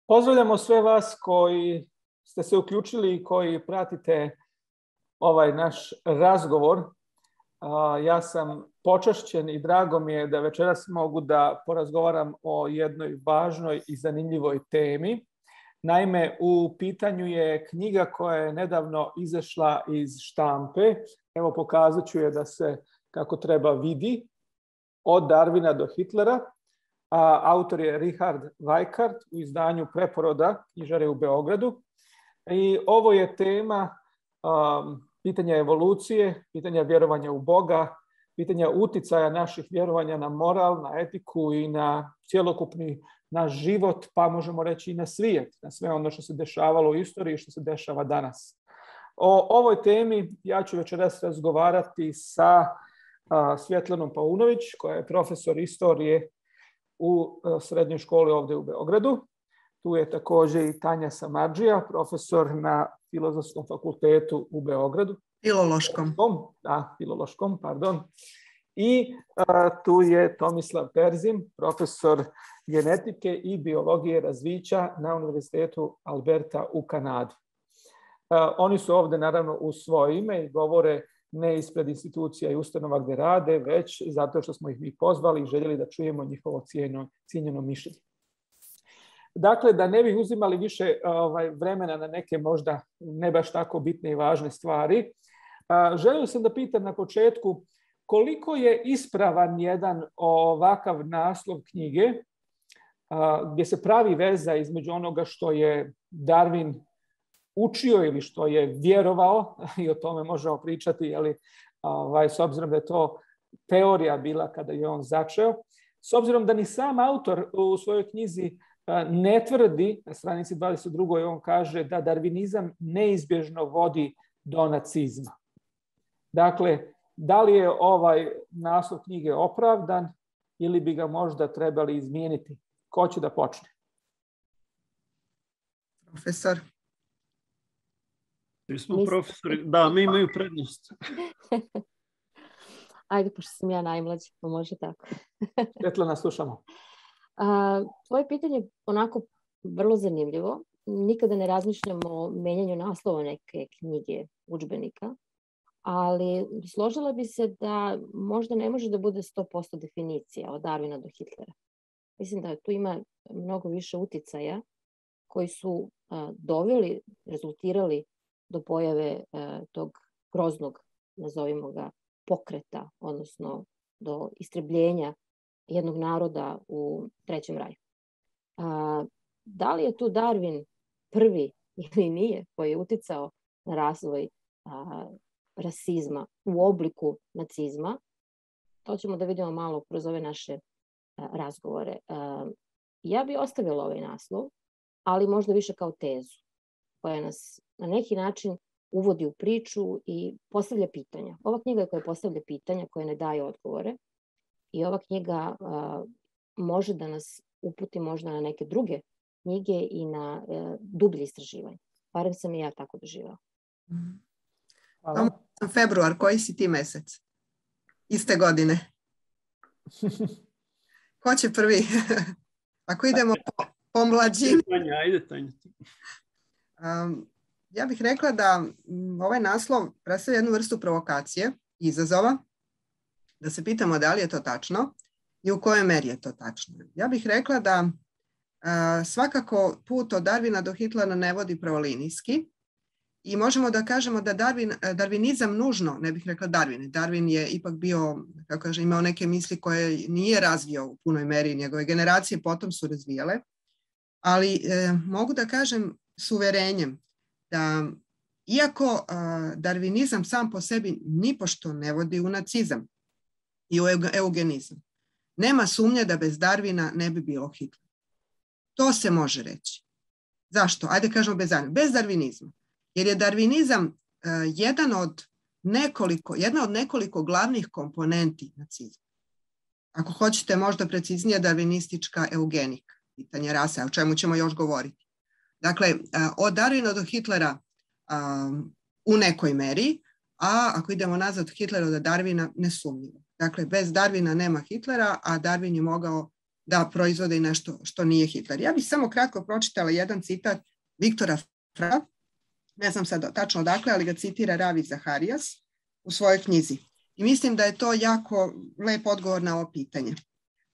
Pozdravljamo sve vas koji ste se uključili i koji pratite ovaj naš razgovor. Ja sam počašćen i drago mi je da večeras mogu da porazgovaram o jednoj važnoj i zanimljivoj temi. Naime, u pitanju je knjiga koja je nedavno izašla iz štampe. Evo, pokazat ću je da se kako treba vidi. Od Darwina do Hitlera. Autor je Richard Weikart u izdanju Preporoda knjižare u Beogradu. I ovo je tema pitanja evolucije, pitanja vjerovanja u Boga, pitanja uticaja naših vjerovanja na moral, na etiku i na cjelokupni naš život, pa možemo reći i na svijet, na sve ono što se dešavalo u istoriji i što se dešava danas. O ovoj temi ja ću večeras razgovarati sa Svjetlanom Paunović, koja je profesor istorije u srednjoj školi ovdje u Beogradu. Tu je također i Tanja Samardžija, profesor na Filozofskom fakultetu u Beogradu. Filološkom, pardon. I tu je Tomislav Perzin, profesor genetike i biologije razvića na Univerzitetu Alberta u Kanadi. Oni su ovdje naravno u svoje ime i govore ne ispred institucija i ustanova gdje rade, već zato što smo ih mi pozvali i željeli da čujemo njihovo cijenjeno mišljenje. Dakle, da ne bih uzimali više vremena na neke možda ne baš tako bitne i važne stvari, želio sam da pitam na početku koliko je ispravan jedan ovakav naslov knjige gdje se pravi veza između onoga što je Darwin učio ili što je vjerovao, i o tome možemo pričati, ali s obzirom da je to teorija bila kada je on začeo. S obzirom da ni sam autor u svojoj knjizi ne tvrdi, na stranici 22. on kaže da darvinizam neizbježno vodi do nacizma. Dakle, da li je ovaj naslov knjige opravdan ili bi ga možda trebali izmijeniti? Ko će da počne? Profesor. Mi smo profesori, da, mi imaju prednost. Ajde, pošto sam ja najmlađa, pa može tako. Svetlana, slušamo. Tvoje pitanje je onako vrlo zanimljivo. Nikada ne razmišljamo o menjanju naslova neke knjige, udžbenika, ali složila bi se da možda ne može da bude 100% definicija od Darwina do Hitlera. Mislim da tu ima mnogo više uticaja koji su doveli, rezultirali do pojave tog groznog, nazovimo ga, pokreta, odnosno do istrebljenja jednog naroda u Trećem raju. Da li je tu Darwin prvi ili nije koji je uticao na razvoj rasizma u obliku nacizma? To ćemo da vidimo malo kroz ove naše razgovore. Ja bi ostavila ovaj naslov, ali možda više kao tezu koja nas na neki način uvodi u priču i postavlja pitanja. Ova knjiga je koja postavlja pitanja, koja ne daje odgovore, i ova knjiga može da nas uputi možda na neke druge knjige i na dublje istraživanje. Barem sam i ja tako doživjela. Februar, koji si ti mesec? Iste godine. Ko će prvi? Ako idemo po mlađini. Ajde, Tanja. Ja bih rekla da ovaj naslov predstavlja jednu vrstu provokacije, izazova, da se pitamo da li je to tačno i u kojoj meri je to tačno. Ja bih rekla da svakako put od Darwina do Hitlera ne vodi pravolinijski i možemo da kažemo da darvinizam nužno, ne bih rekla Darwin je ipak bio, kako kaže, imao neke misli koje nije razvio u punoj meri, njegove generacije potom su razvijale, ali mogu da kažem s uverenjem da iako darvinizam sam po sebi nipošto ne vodi u nacizam i u eugenizam, nema sumnje da bez Darwina ne bi bilo Hitlera. To se može reći. Zašto? Ajde kažemo bez darvinizma. Jer je darvinizam jedna od nekoliko glavnih komponenti nacizma. Ako hoćete možda preciznije, darvinistička eugenika, pitanje rase, o čemu ćemo još govoriti. Dakle, od Darwina do Hitlera u nekoj meri, a ako idemo nazad od Hitlera do Darwina, nesumnjivo. Dakle, bez Darwina nema Hitlera, a Darwin je mogao da proizvode nešto što nije Hitler. Ja bih samo kratko pročitala jedan citat Viktora Frankla, ne znam sad tačno odakle, ali ga citira Ravi Zaharijas u svojoj knjizi. I mislim da je to jako lep odgovor na ovo pitanje.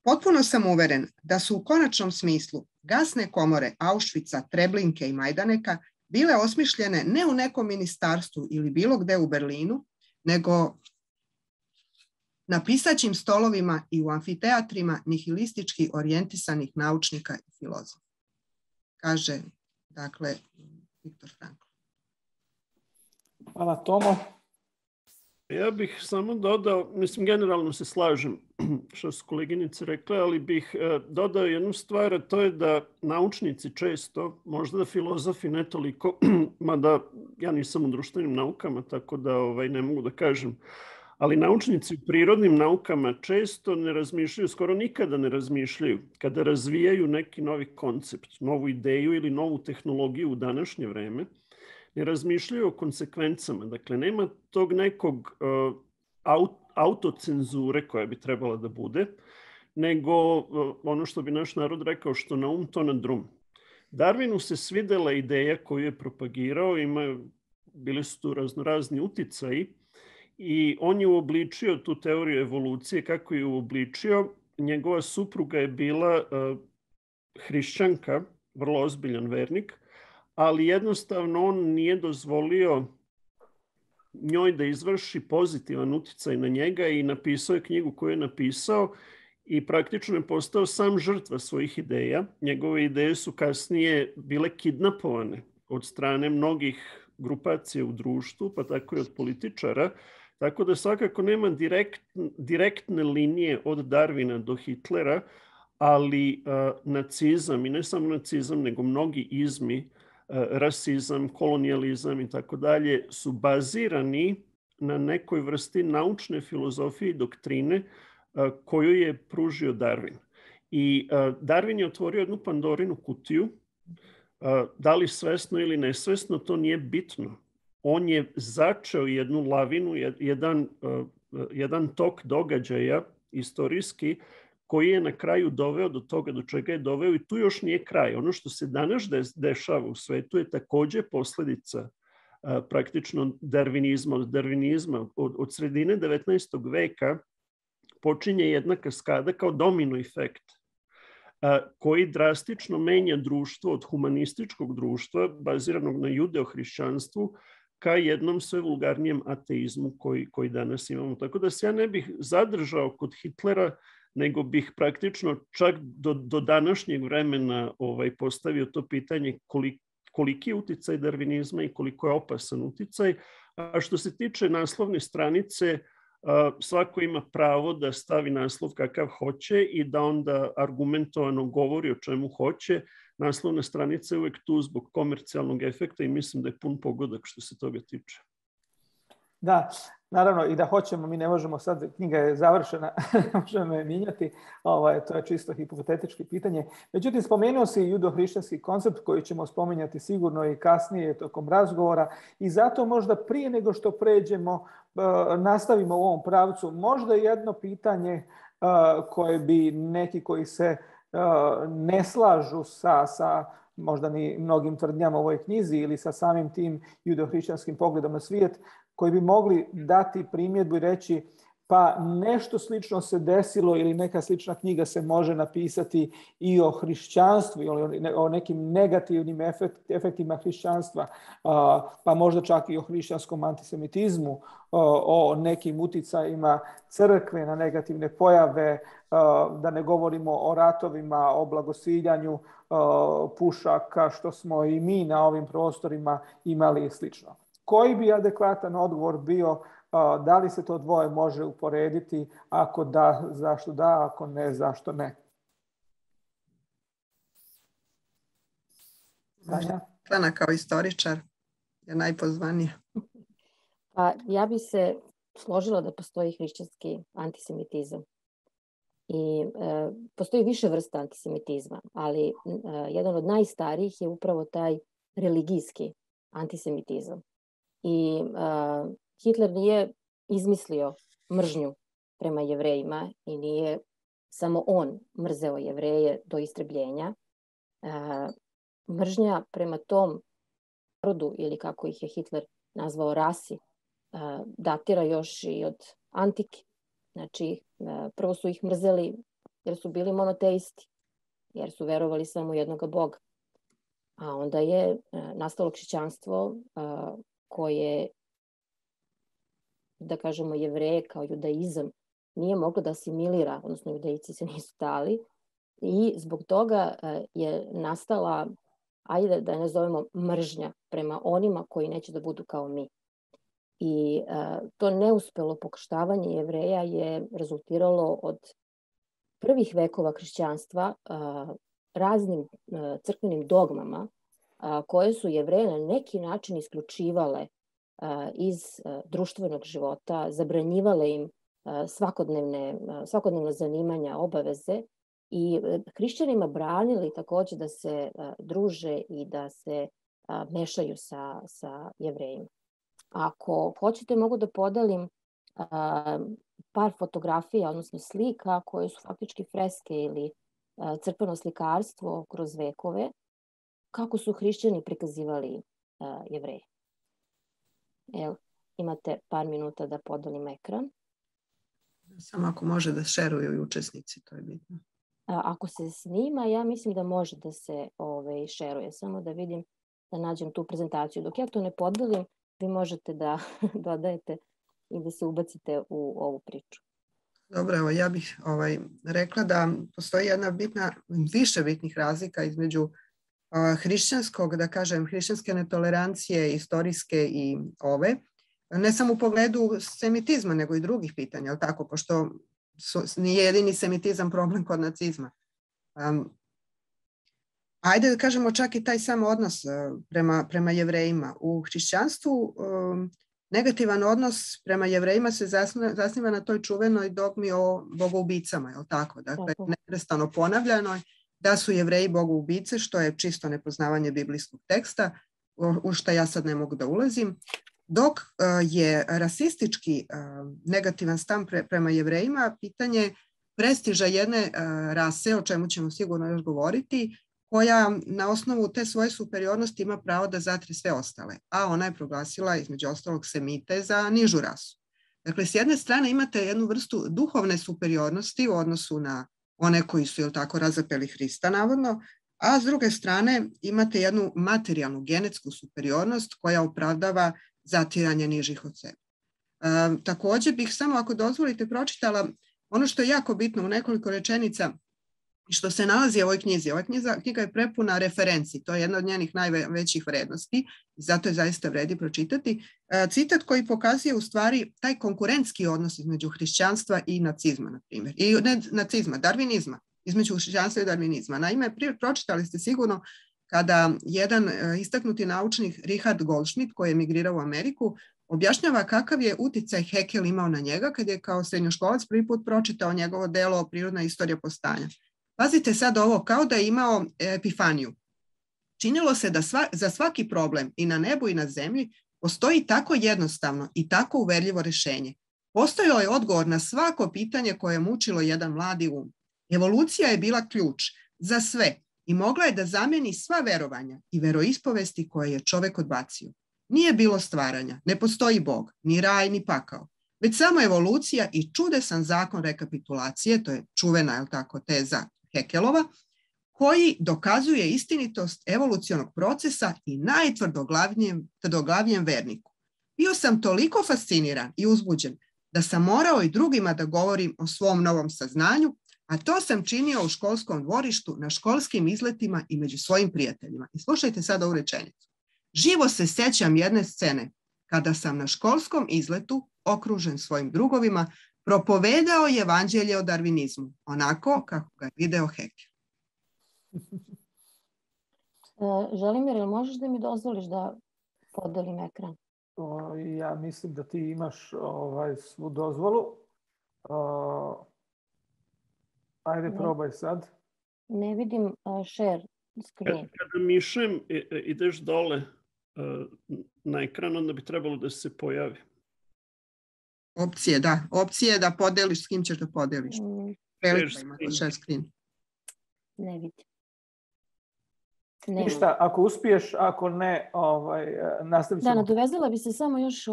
Potpuno sam uveren da su u konačnom smislu gasne komore Auschwitza, Treblinke i Majdaneka bile osmišljene ne u nekom ministarstvu ili bilo gde u Berlinu, nego na pisaćim stolovima i u amfiteatrima nihilistički orijentisanih naučnika i filozofa. Kaže, dakle, Viktor Frankl. Hvala, Tomo. Ja bih samo dodao, mislim, generalno se slažem što su koleginice rekle, ali bih dodao jednu stvar, a to je da naučnici često, možda da filozofi ne toliko, mada ja nisam u društvenim naukama, tako da ne mogu da kažem, ali naučnici u prirodnim naukama često ne razmišljaju, skoro nikada ne razmišljaju, kada razvijaju neki novi koncept, novu ideju ili novu tehnologiju u današnje vreme, ne razmišljaju o konsekvencama. Dakle, nema tog nekog autocenzure koja bi trebala da bude, nego ono što bi naš narod rekao, što na um, to na drum. Darwinu se svidela ideja koju je propagirao, bili su tu raznorazni uticaji i on je uobličio tu teoriju evolucije. Kako je uobličio? Njegova supruga je bila hrišćanka, vrlo ozbiljan vernik, ali jednostavno on nije dozvolio njoj da izvrši pozitivan uticaj na njega i napisao je knjigu koju je napisao i praktično je postao sam žrtva svojih ideja. Njegove ideje su kasnije bile kidnapovane od strane mnogih grupacija u društvu, pa tako i od političara, tako da svakako nema direktne linije od Darwina do Hitlera, ali nacizam, i ne samo nacizam, nego mnogi izmi, rasizam, kolonijalizam i tako dalje, su bazirani na nekoj vrsti naučne filozofije i doktrine koju je pružio Darwin. I Darwin je otvorio jednu Pandorinu kutiju, da li svesno ili nesvesno, to nije bitno. On je začeo jednu lavinu, jedan tok događaja istorijski, koji je na kraju doveo do toga do čega je doveo i tu još nije kraj. Ono što se danas dešava u svetu je takođe posledica praktično darvinizma. Od darvinizma, od sredine 19. veka počinje jedna kaskada kao domino efekt koji drastično menja društvo od humanističkog društva baziranog na judeo-hrišćanstvu ka jednom sve vulgarnijem ateizmu koji danas imamo. Tako da se ja ne bih zadržao kod Hitlera, nego bih praktično čak do današnjeg vremena postavio to pitanje koliki je uticaj darvinizma i koliko je opasan uticaj. A što se tiče naslovne stranice, svako ima pravo da stavi naslov kakav hoće i da onda argumentovano govori o čemu hoće. Naslovna stranica je uvek tu zbog komercijalnog efekta i mislim da je pun pogodak što se toga tiče. Da, naravno i da hoćemo, mi ne možemo sad, knjiga je završena, ne možemo je mijenjati, to je čisto hipotetički pitanje. Međutim, spomenuo si judo-hrišćanski koncept koji ćemo spominjati sigurno i kasnije tokom razgovora i zato možda prije nego što pređemo, nastavimo u ovom pravcu, možda jedno pitanje koje bi neki koji se ne slažu sa možda ni mnogim tvrdnjama u ovoj knjizi ili sa samim tim judo-hrišćanskim pogledom na svijet, koji bi mogli dati primjedbu i reći pa nešto slično se desilo ili neka slična knjiga se može napisati i o hrišćanstvu ili o nekim negativnim efektima hrišćanstva, pa možda čak i o hrišćanskom antisemitizmu, o nekim uticajima crkve na negativne pojave, da ne govorimo o ratovima, o blagosiljanju pušaka, što smo i mi na ovim prostorima imali i slično. Koji bi adekvatan odgovor bio, da li se to dvoje može uporediti, ako da, zašto da, ako ne, zašto ne? Ana kao istoričar je najpozvanija. Pa ja bi se složila da postoji hrišćanski antisemitizam. I postoji više vrsta antisemitizma, ali jedan od najstarijih je upravo taj religijski antisemitizam. I Hitler nije izmislio mržnju prema Jevrejima i nije samo on mrzeo Jevreje do istrebljenja. Mržnja prema tom narodu, ili kako ih je Hitler nazvao rasi, datira još i od antike. Znači, prvo su ih mrzeli jer su bili monoteisti, jer su verovali samo u jednoga Boga. A onda je nastalo kršćanstvo koje, da kažemo, Jevreje kao judaizam nije moglo da asimilira, odnosno judejci se nisu dali, i zbog toga je nastala, ajde da je nazovemo, mržnja prema onima koji neće da budu kao mi. I to neuspelo pokrštavanje Jevreja je rezultiralo od prvih vekova kršćanstva raznim crkvenim dogmama koje su Jevreje na neki način isključivale iz društvenog života, zabranjivale im svakodnevna zanimanja, obaveze, i hrišćanima branili takođe da se druže i da se mešaju sa Jevrejima. Ako hoćete, mogu da podelim par fotografija, odnosno slika, koje su faktički freske ili crkveno slikarstvo kroz vekove, kako su hrišćani prikazivali Jevreje. Evo, imate par minuta da podelim ekran. Samo ako može da šeruju i učesnici, to je bitno. Ako se snima, ja mislim da može da se šeruje. Samo da vidim, da nađem tu prezentaciju. Dok ja to ne podelim, vi možete da dodajete i da se ubacite u ovu priču. Dobro, evo ja bih rekla da postoji jedna više bitnih razlika između hrišćanskog, da kažem, hrišćanske netolerancije, istorijske i ove, ne samo u pogledu semitizma, nego i drugih pitanja, ali tako, pošto nije jedini semitizam problem kod nacizma. Ajde da kažemo čak i taj sam odnos prema Jevrejima. U hrišćanstvu negativan odnos prema Jevrejima se zasniva na toj čuvenoj dogmi o bogoubicama, je li tako? Dakle, neprestano ponavljano da su Jevreji bogoubice, što je čisto nepoznavanje biblijskog teksta, u što ja sad ne mogu da ulazim. Dok je rasistički negativan stav prema Jevrejima pitanje prestiža jedne rase, o čemu ćemo sigurno još govoriti, koja na osnovu te svoje superiornosti ima pravo da zatre sve ostale, a ona je proglasila između ostalog Semite za nižu rasu. Dakle, s jedne strane imate jednu vrstu duhovne superiornosti u odnosu na one koji su, jel tako, razapeli Hrista, navodno, a s druge strane imate jednu materijalnu, genetsku superiornost koja opravdava zatiranje nižih od sebe. Također bih samo, ako dozvolite, pročitala ono što je jako bitno u nekoliko rečenica što se nalazi u ovoj knjizi. Ova knjiga je prepuna referenci, to je jedna od njenih najvećih vrednosti i zato je zaista vredi pročitati. Citat koji pokazuje u stvari taj konkurentski odnos između hrišćanstva i nacizma, na primjer. I ne nacizma, darvinizma, između hrišćanstva i darvinizma. Naime, pročitali ste sigurno kada jedan istaknuti naučnik Richard Goldschmidt, koji je emigrirao u Ameriku, objašnjava kakav je uticaj Haeckel imao na njega kad je kao srednjoškolac prvi put pročitao njegovo delo Prirodna istorija postanja. Pazite sad ovo, kao da je imao epifaniju. Činilo se da za svaki problem i na nebu i na zemlji postoji tako jednostavno i tako uverljivo rješenje. Postojao je odgovor na svako pitanje koje je mučilo jedan mladi um. Evolucija je bila ključ za sve i mogla je da zamijeni sva verovanja i veroispovesti koje je čovek odbacio. Nije bilo stvaranja, ne postoji Bog, ni raj, ni pakao, već samo evolucija i čudesan zakon rekapitulacije, to je čuvena, je li tako, teza Haeckelova, koji dokazuje istinitost evolucionog procesa i najtvrdoglavnijem verniku. Bio sam toliko fasciniran i uzbuđen da sam morao i drugima da govorim o svom novom saznanju, a to sam činio u školskom dvorištu, na školskim izletima i među svojim prijateljima. I slušajte sad ovu rečenicu. Živo se sjećam jedne scene kada sam na školskom izletu, okružen svojim drugovima, propovedao evanđelje o darvinizmu, onako kako ga je video Haeckel. Želimir, jel možeš da mi dozvoliš da podelim ekran? Ja mislim da ti imaš svu dozvolu. Ajde, probaj sad. Ne vidim share screen. Kada mišem ideš dole na ekran, onda bi trebalo da se pojavi. Opcije, da. Opcije da podeliš s kim ćeš da podeliš. Prelika ima kod share screen. Ne vidi. Ništa, ako uspiješ, ako ne, nastavit ćemo. Da, nadovezala bi se samo još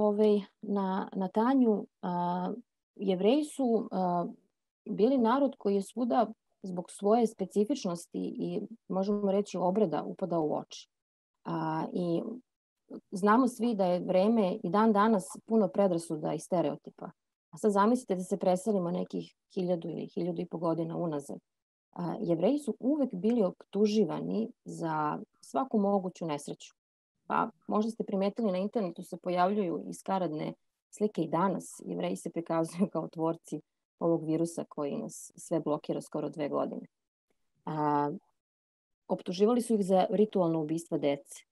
na Tanju. Jevreji su bili narod koji je svuda zbog svoje specifičnosti i možemo reći obreda upadao u oči. I znamo svi da je vreme i dan danas puno predrasuda i stereotipa. A sad zamislite da se preselimo nekih 1000 ili 1500 godina unazad. Jevreji su uvek bili optuživani za svaku moguću nesreću. Pa možda ste primetili na internetu se pojavljuju i skaradne slike i danas. Jevreji se prikazuju kao tvorci ovog virusa koji nas sve blokira skoro 2 godine. Optuživali su ih za ritualno ubistva dece.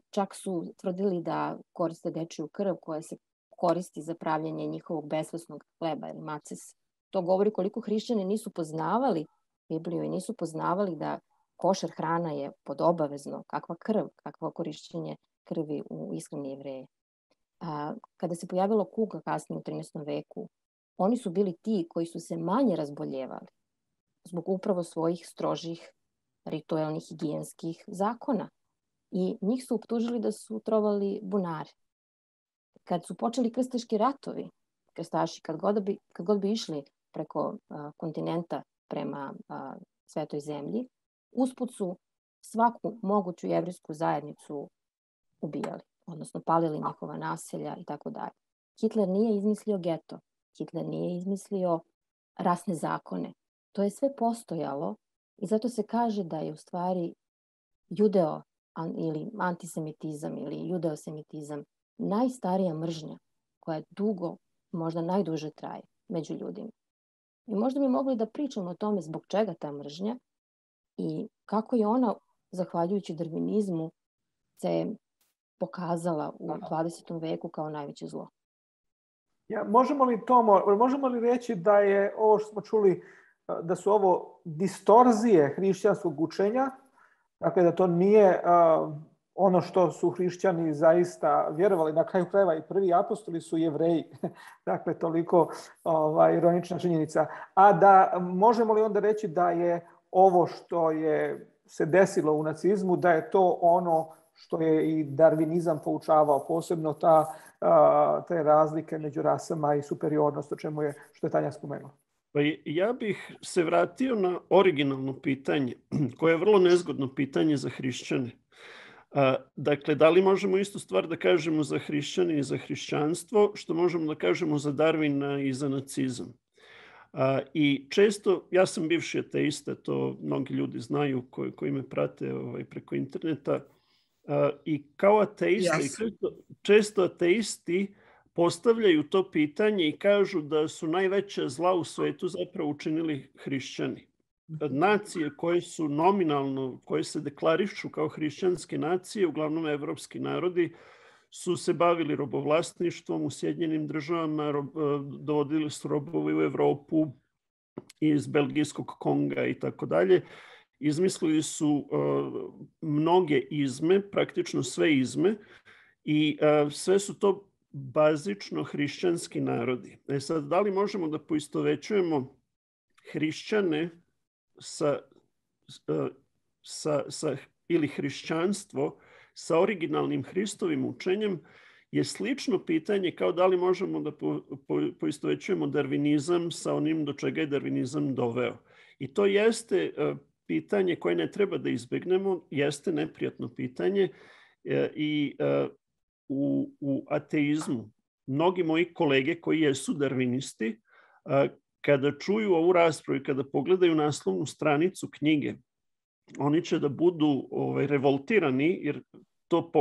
Čak su tvrdili da koriste dečiju krv koja se koristi za pravljenje njihovog besvesnog hleba ili maces. To govori koliko hrišćani nisu poznavali Bibliju i nisu poznavali da košer hrana je podobavezno, kakva krv, kakvo korišćenje krvi u ishrani Jevreja. Kada se pojavila kuga kasnije u 13. veku, oni su bili ti koji su se manje razboljevali zbog upravo svojih strožih ritualnih higijenskih zakona. I njih su optužili da su trovali bunare. Kad su počeli krstaški ratovi, krstaši kad god bi išli preko kontinenta prema Svetoj zemlji, usput su svaku moguću jevrijsku zajednicu ubijali, odnosno palili njihova naselja i tako dalje. Hitler nije izmislio geto, Hitler nije izmislio rasne zakone. To je sve postojalo i zato se kaže da je u stvari judeo ili antisemitizam ili judeosemitizam najstarija mržnja koja dugo, možda najduže traje među ljudima. I možda bi mogli da pričamo o tome zbog čega ta mržnja i kako je ona, zahvaljujući darvinizmu, se pokazala u 20. veku kao najveće zlo. Možemo li reći da je ovo što smo čuli, da su ovo distorzije hrišćanskog učenja, dakle da to nije ono što su hrišćani zaista vjerovali, na kraju krajeva i prvi apostoli su Jevreji, dakle toliko ironična činjenica. A da možemo li onda reći da je ovo što je se desilo u nacizmu, da je to ono što je i darvinizam poučavao, posebno te razlike među rasama i superiornost, što je Tanja spomenula. Pa ja bih se vratio na originalno pitanje, koje je vrlo nezgodno pitanje za hrišćane. Dakle, da li možemo istu stvar da kažemo za hrišćane i za hrišćanstvo, što možemo da kažemo za Darwina i za nacizam? I često, ja sam bivši ateista, to mnogi ljudi znaju koji me prate preko interneta, i kao ateista, često ateisti postavljaju to pitanje i kažu da su najveća zla u svetu zapravo učinili hrišćani. Nacije koje su nominalno, koje se deklarišu kao hrišćanske nacije, uglavnom evropski narodi, su se bavili robovlasništvom u Sjedinjenim državama, dovodili su robove u Evropu iz belgijskog Konga i tako dalje. Izmislili su mnoge izme, praktično sve izme, i sve su to bazično hrišćanski narodi. Sad, da li možemo da poistovećujemo hrišćane ili hrišćanstvo sa originalnim Hristovim učenjem je slično pitanje kao da li možemo da poistovećujemo darvinizam sa onim do čega je darvinizam doveo. I to jeste pitanje koje ne treba da izbegnemo, jeste neprijatno pitanje i u ateizmu. Mnogi moji kolege koji jesu darvinisti, kada čuju ovu raspravu i kada pogledaju naslovnu stranicu knjige, oni će da budu revoltirani jer to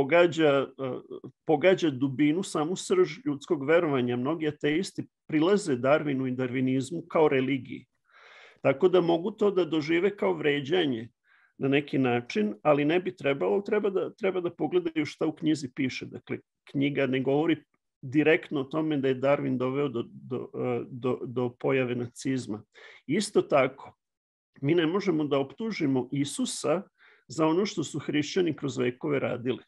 pogađa dubinu, samu srž ljudskog verovanja. Mnogi ateisti prilaze Darwinu i darvinizmu kao religiji. Tako da mogu to da dožive kao vređanje na neki način, ali ne bi trebalo, treba da pogledaju šta u knjizi piše. Dakle, knjiga ne govori direktno o tome da je Darwin doveo do pojave nacizma. Isto tako, mi ne možemo da optužimo Isusa za ono što su hrišćani kroz vekove radili.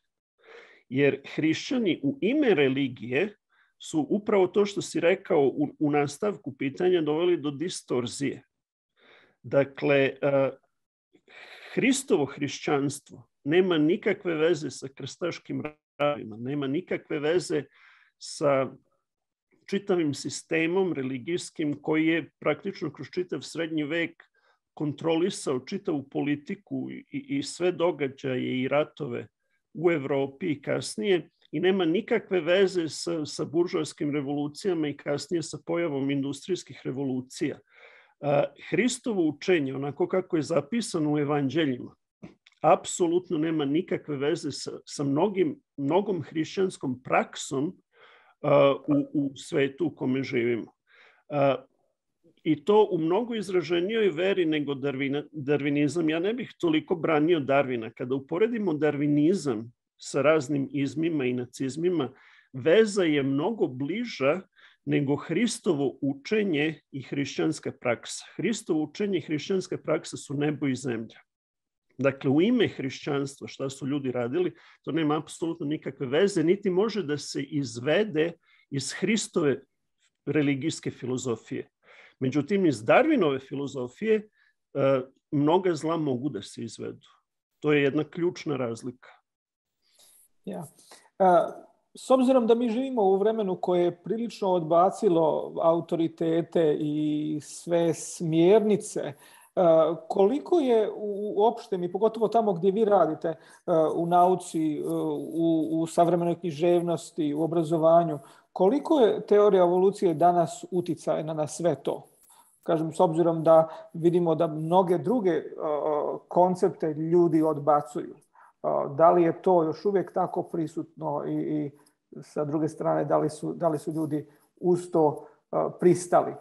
Jer hrišćani u ime religije su upravo to što si rekao u nastavku pitanja doveli do distorzije. Dakle, Hristovo hrišćanstvo nema nikakve veze sa krstaškim radima, nema nikakve veze sa čitavim sistemom religijskim koji je praktično kroz čitav srednji vek kontrolisao čitavu politiku i sve događaje i ratove u Evropi i kasnije i nema nikakve veze sa buržoaskim revolucijama i kasnije sa pojavom industrijskih revolucija. Hristovo učenje, onako kako je zapisano u evanđeljima, apsolutno nema nikakve veze sa mnogom hrišćanskom praksom u svetu u kome živimo. I to u mnogo izraženijoj veri nego darvinizam. Ja ne bih toliko branio Darvina. Kada uporedimo darvinizam sa raznim izmima i nacizmima, veza je mnogo bliža nego Hristovo učenje i hrišćanska praksa. Hristovo učenje i hrišćanska praksa su nebo i zemlja. Dakle, u ime hrišćanstva, šta su ljudi radili, to nema apsolutno nikakve veze, niti može da se izvede iz Hristove religijske filozofije. Međutim, iz Darwinove filozofije mnoga zla mogu da se izvedu. To je jedna ključna razlika. Ja. S obzirom da mi živimo u vremenu koje je prilično odbacilo autoritete i sve smjernice, koliko je uopšte, i pogotovo tamo gdje vi radite u nauci, u savremenoj književnosti, u obrazovanju, koliko je teorija evolucije danas uticajna na sve to? Kažem, s obzirom da vidimo da mnoge druge koncepte ljudi odbacuju. Da li je to još uvijek tako prisutno i sa druge strane, da li su ljudi uz to pristali?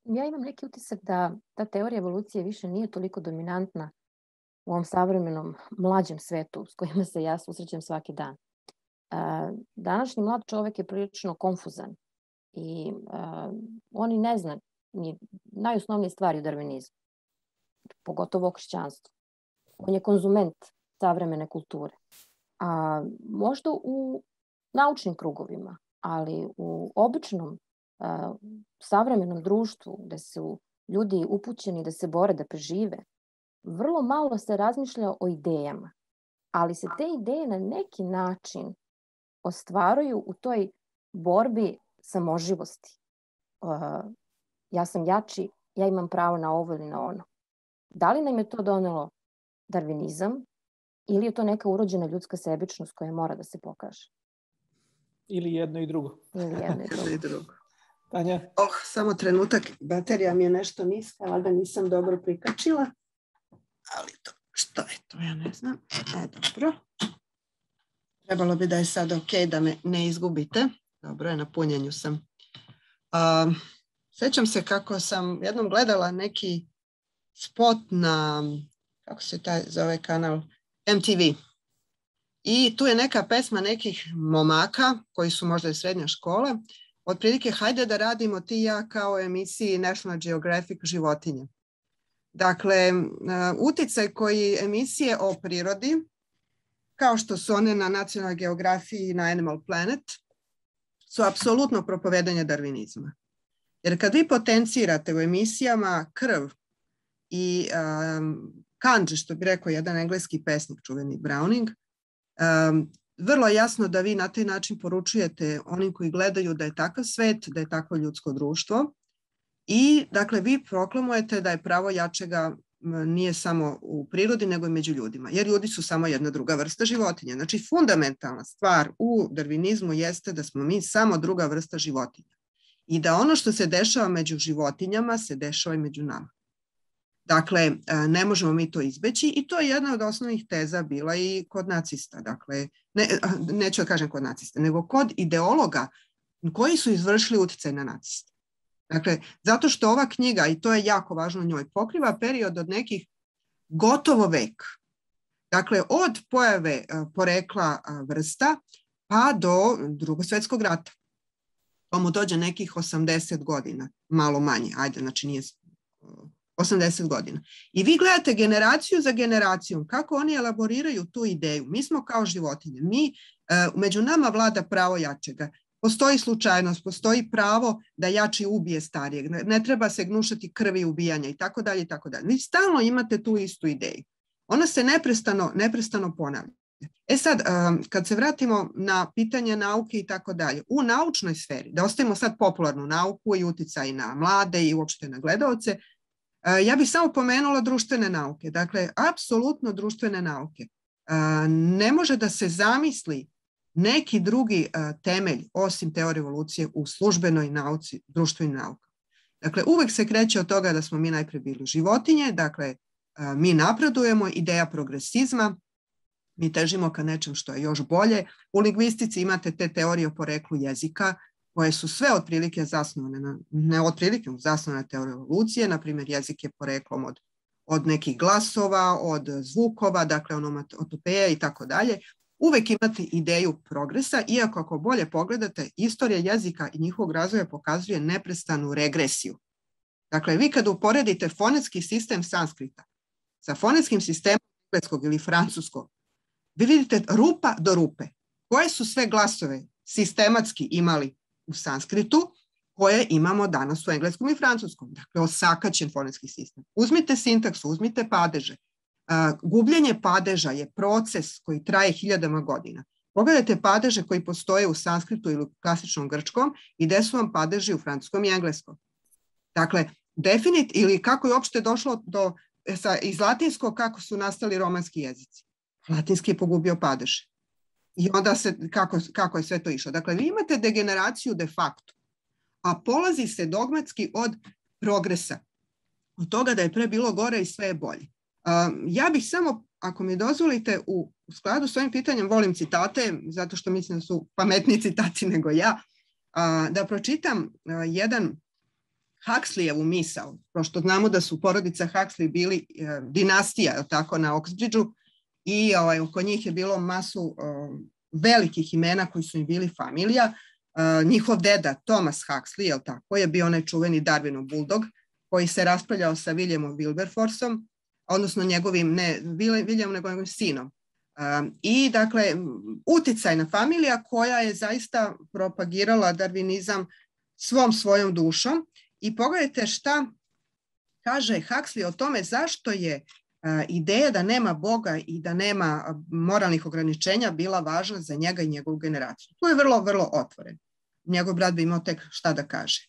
Ja imam neki utisak da ta teorija evolucije više nije toliko dominantna u ovom savremenom mlađem svetu s kojima se ja susrećem svaki dan. Današnji mlad čovjek je prilično konfuzan i on i ne zna ni najosnovnije stvari u darvinizmu, pogotovo o hrišćanstvu. On je konzument savremene kulture. A možda u naučnim krugovima, ali u običnom savremenom društvu gde su ljudi upućeni da se bore, da prežive, vrlo malo se razmišlja o idejama, ali se te ideje na neki način ostvaruju u toj borbi samoživosti. Ja sam jači, ja imam pravo na ovo ili na ono. Da li nam je to donelo darvinizam ili je to neka urođena ljudska sebičnost koja mora da se pokaže? Ili jedno i drugo. Ili jedno i drugo. Tanja? Samo trenutak, baterija mi je nešto niska, valjda nisam dobro prikačila, ali to, što je to, ja ne znam. Dobro. Trebalo bi da je sad ok, da me ne izgubite. Dobro je, na punjenju sam. Sjećam se kako sam jednom gledala neki spot na, kako se taj zove kanal, MTV. I tu je neka pesma nekih momaka koji su možda iz srednje škole. Otprilike, hajde da radimo ti i ja kao u emisiji National Geographic životinje. Dakle, uticaj koji emisije o prirodi, kao što su one na Nacionalnoj geografiji i na Animal Planet, su apsolutno propovedanje darvinizma. Jer kad vi potencirate u emisijama krv i kanđe, što bi rekao jedan engleski pesnik, čuveni Browning, vrlo jasno da vi na taj način poručujete onim koji gledaju da je takav svet, da je takvo ljudsko društvo i dakle vi proklamujete da je pravo jačega nije samo u prirodi nego i među ljudima, jer ljudi su samo jedna druga vrsta životinja. Znači fundamentalna stvar u darvinizmu jeste da smo mi samo druga vrsta životinja i da ono što se dešava među životinjama se dešava i među nama. Dakle, ne možemo mi to izbeći i to je jedna od osnovnih teza bila i kod nacista. Dakle, neću da kažem kod nacista, nego kod ideologa koji su izvršili uticaj na naciste. Dakle, zato što ova knjiga, i to je jako važno njoj, pokriva period od nekih gotovo vek. Dakle, od pojave porekla vrsta pa do Drugog svjetskog rata. To mu dođe nekih 80 godina, malo manje, ajde, znači nije 80 godina. I vi gledate generaciju za generacijom kako oni elaboriraju tu ideju. Mi smo kao životinje. Među nama vlada pravo jačega. Postoji slučajnost, postoji pravo da jači ubije starijeg. Ne treba se gnušati krvi ubijanja i tako dalje i tako dalje. Vi stalno imate tu istu ideju. Ona se neprestano ponavlja. Sad, kad se vratimo na pitanje nauke i tako dalje, u naučnoj sferi, da ostavimo sad popularnu nauku i uticaj na mlade i uopšte na gledaoce, ja bih samo pomenula društvene nauke. Dakle, apsolutno društvene nauke. Ne može da se zamisli neki drugi temelj osim teorije evolucije u službenoj nauci, društvenim naukama. Dakle, uvek se kreće od toga da smo mi najpre bili životinje, dakle, mi napredujemo, ideja progresizma, mi težimo ka nečem što je još bolje. U lingvistici imate te teorije o poreklu jezika, koje su sve otprilike zasnovane, zasnovane na teoriji evolucije, na primjer jezik je poreklom od nekih glasova, od zvukova, dakle onomatopeja i tako dalje. Uvek imate ideju progresa, iako ako bolje pogledate, istorija jezika i njihovog razvoja pokazuje neprestanu regresiju. Dakle, vi kad uporedite fonetski sistem sanskrita sa fonetskim sistemom engleskog ili francuskog, vi vidite rupa do rupe. Koje su sve glasove sistematski imali u sanskritu, koje imamo danas u engleskom i francuskom. Dakle, osakaćen fonetski sistem. Uzmite sintaksu, uzmite padeže. Gubljenje padeža je proces koji traje hiljadama godina. Pogledajte padeže koji postoje u sanskritu ili u klasičnom grčkom i gde su vam padeži u francuskom i engleskom. Dakle, ili kako je uopšte došlo iz latinskog, kako su nastali romanski jezici. Latinski je pogubio padeže. I onda kako je sve to išlo. Dakle, vi imate degeneraciju de facto, a polazi se dogmatski od progresa. Od toga da je pre bilo gore i sve je bolje. Ja bih samo, ako mi dozvolite, u skladu s ovim pitanjem, volim citate, zato što mislim da su pametniji citati nego ja, da pročitam jedan Huxleyevu misao, pošto znamo da su porodica Huxley bili dinastija, tako, na Oxbridgeu, i oko njih je bilo masu velikih imena koji su im bili familija. Njihov deda Thomas Huxley, tako, je bio onaj čuveni Darwinov buldog, koji se raspravljao sa Williamom Wilberforceom, odnosno njegovim, ne Williamom, nego njegovim sinom. I dakle, uticajna familija koja je zaista propagirala darvinizam svom svojom dušom. I pogledajte šta kaže Huxley o tome zašto je ideja da nema Boga i da nema moralnih ograničenja bila važna za njega i njegovu generaciju. Tu je vrlo, vrlo otvoren. Njegov brat bi imao tek šta da kaže.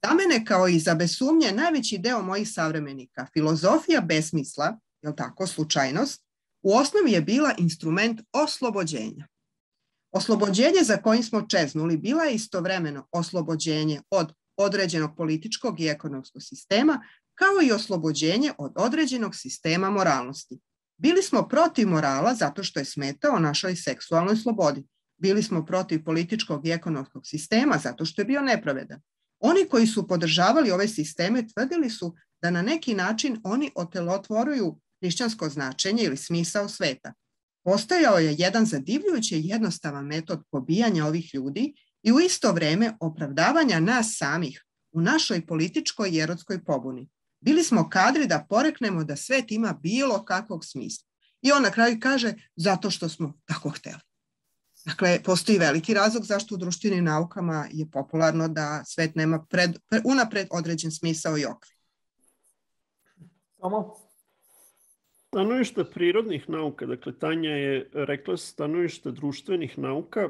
Za mene, kao i za bez sumnje, najveći deo mojih savremenika, filozofija besmisla, jel tako, slučajnost, u osnovi je bila instrument oslobođenja. Oslobođenje za kojim smo čeznuli bila je istovremeno oslobođenje od određenog političkog i ekonomskog sistema, kao i oslobođenje od određenog sistema moralnosti. Bili smo protiv morala zato što je smetao našoj seksualnoj slobodi. Bili smo protiv političkog i ekonomskog sistema zato što je bio nepravedan. Oni koji su podržavali ove sisteme tvrdili su da na neki način oni otelotvoruju hrišćansko značenje ili smisao sveta. Postojao je jedan zadivljujuće jednostavan metod pobijanja ovih ljudi i u isto vreme opravdavanja nas samih u našoj političkoj i erotskoj pobuni. Bili smo kadri da poreknemo da svet ima bilo kakvog smisla. I on na kraju kaže zato što smo tako hteli. Dakle, postoji veliki razlog zašto u društvenim naukama je popularno da svet nema unapred određen smisao i okvir. Tomo? Stanovište prirodnih nauka, dakle Tanja je rekla stanovište društvenih nauka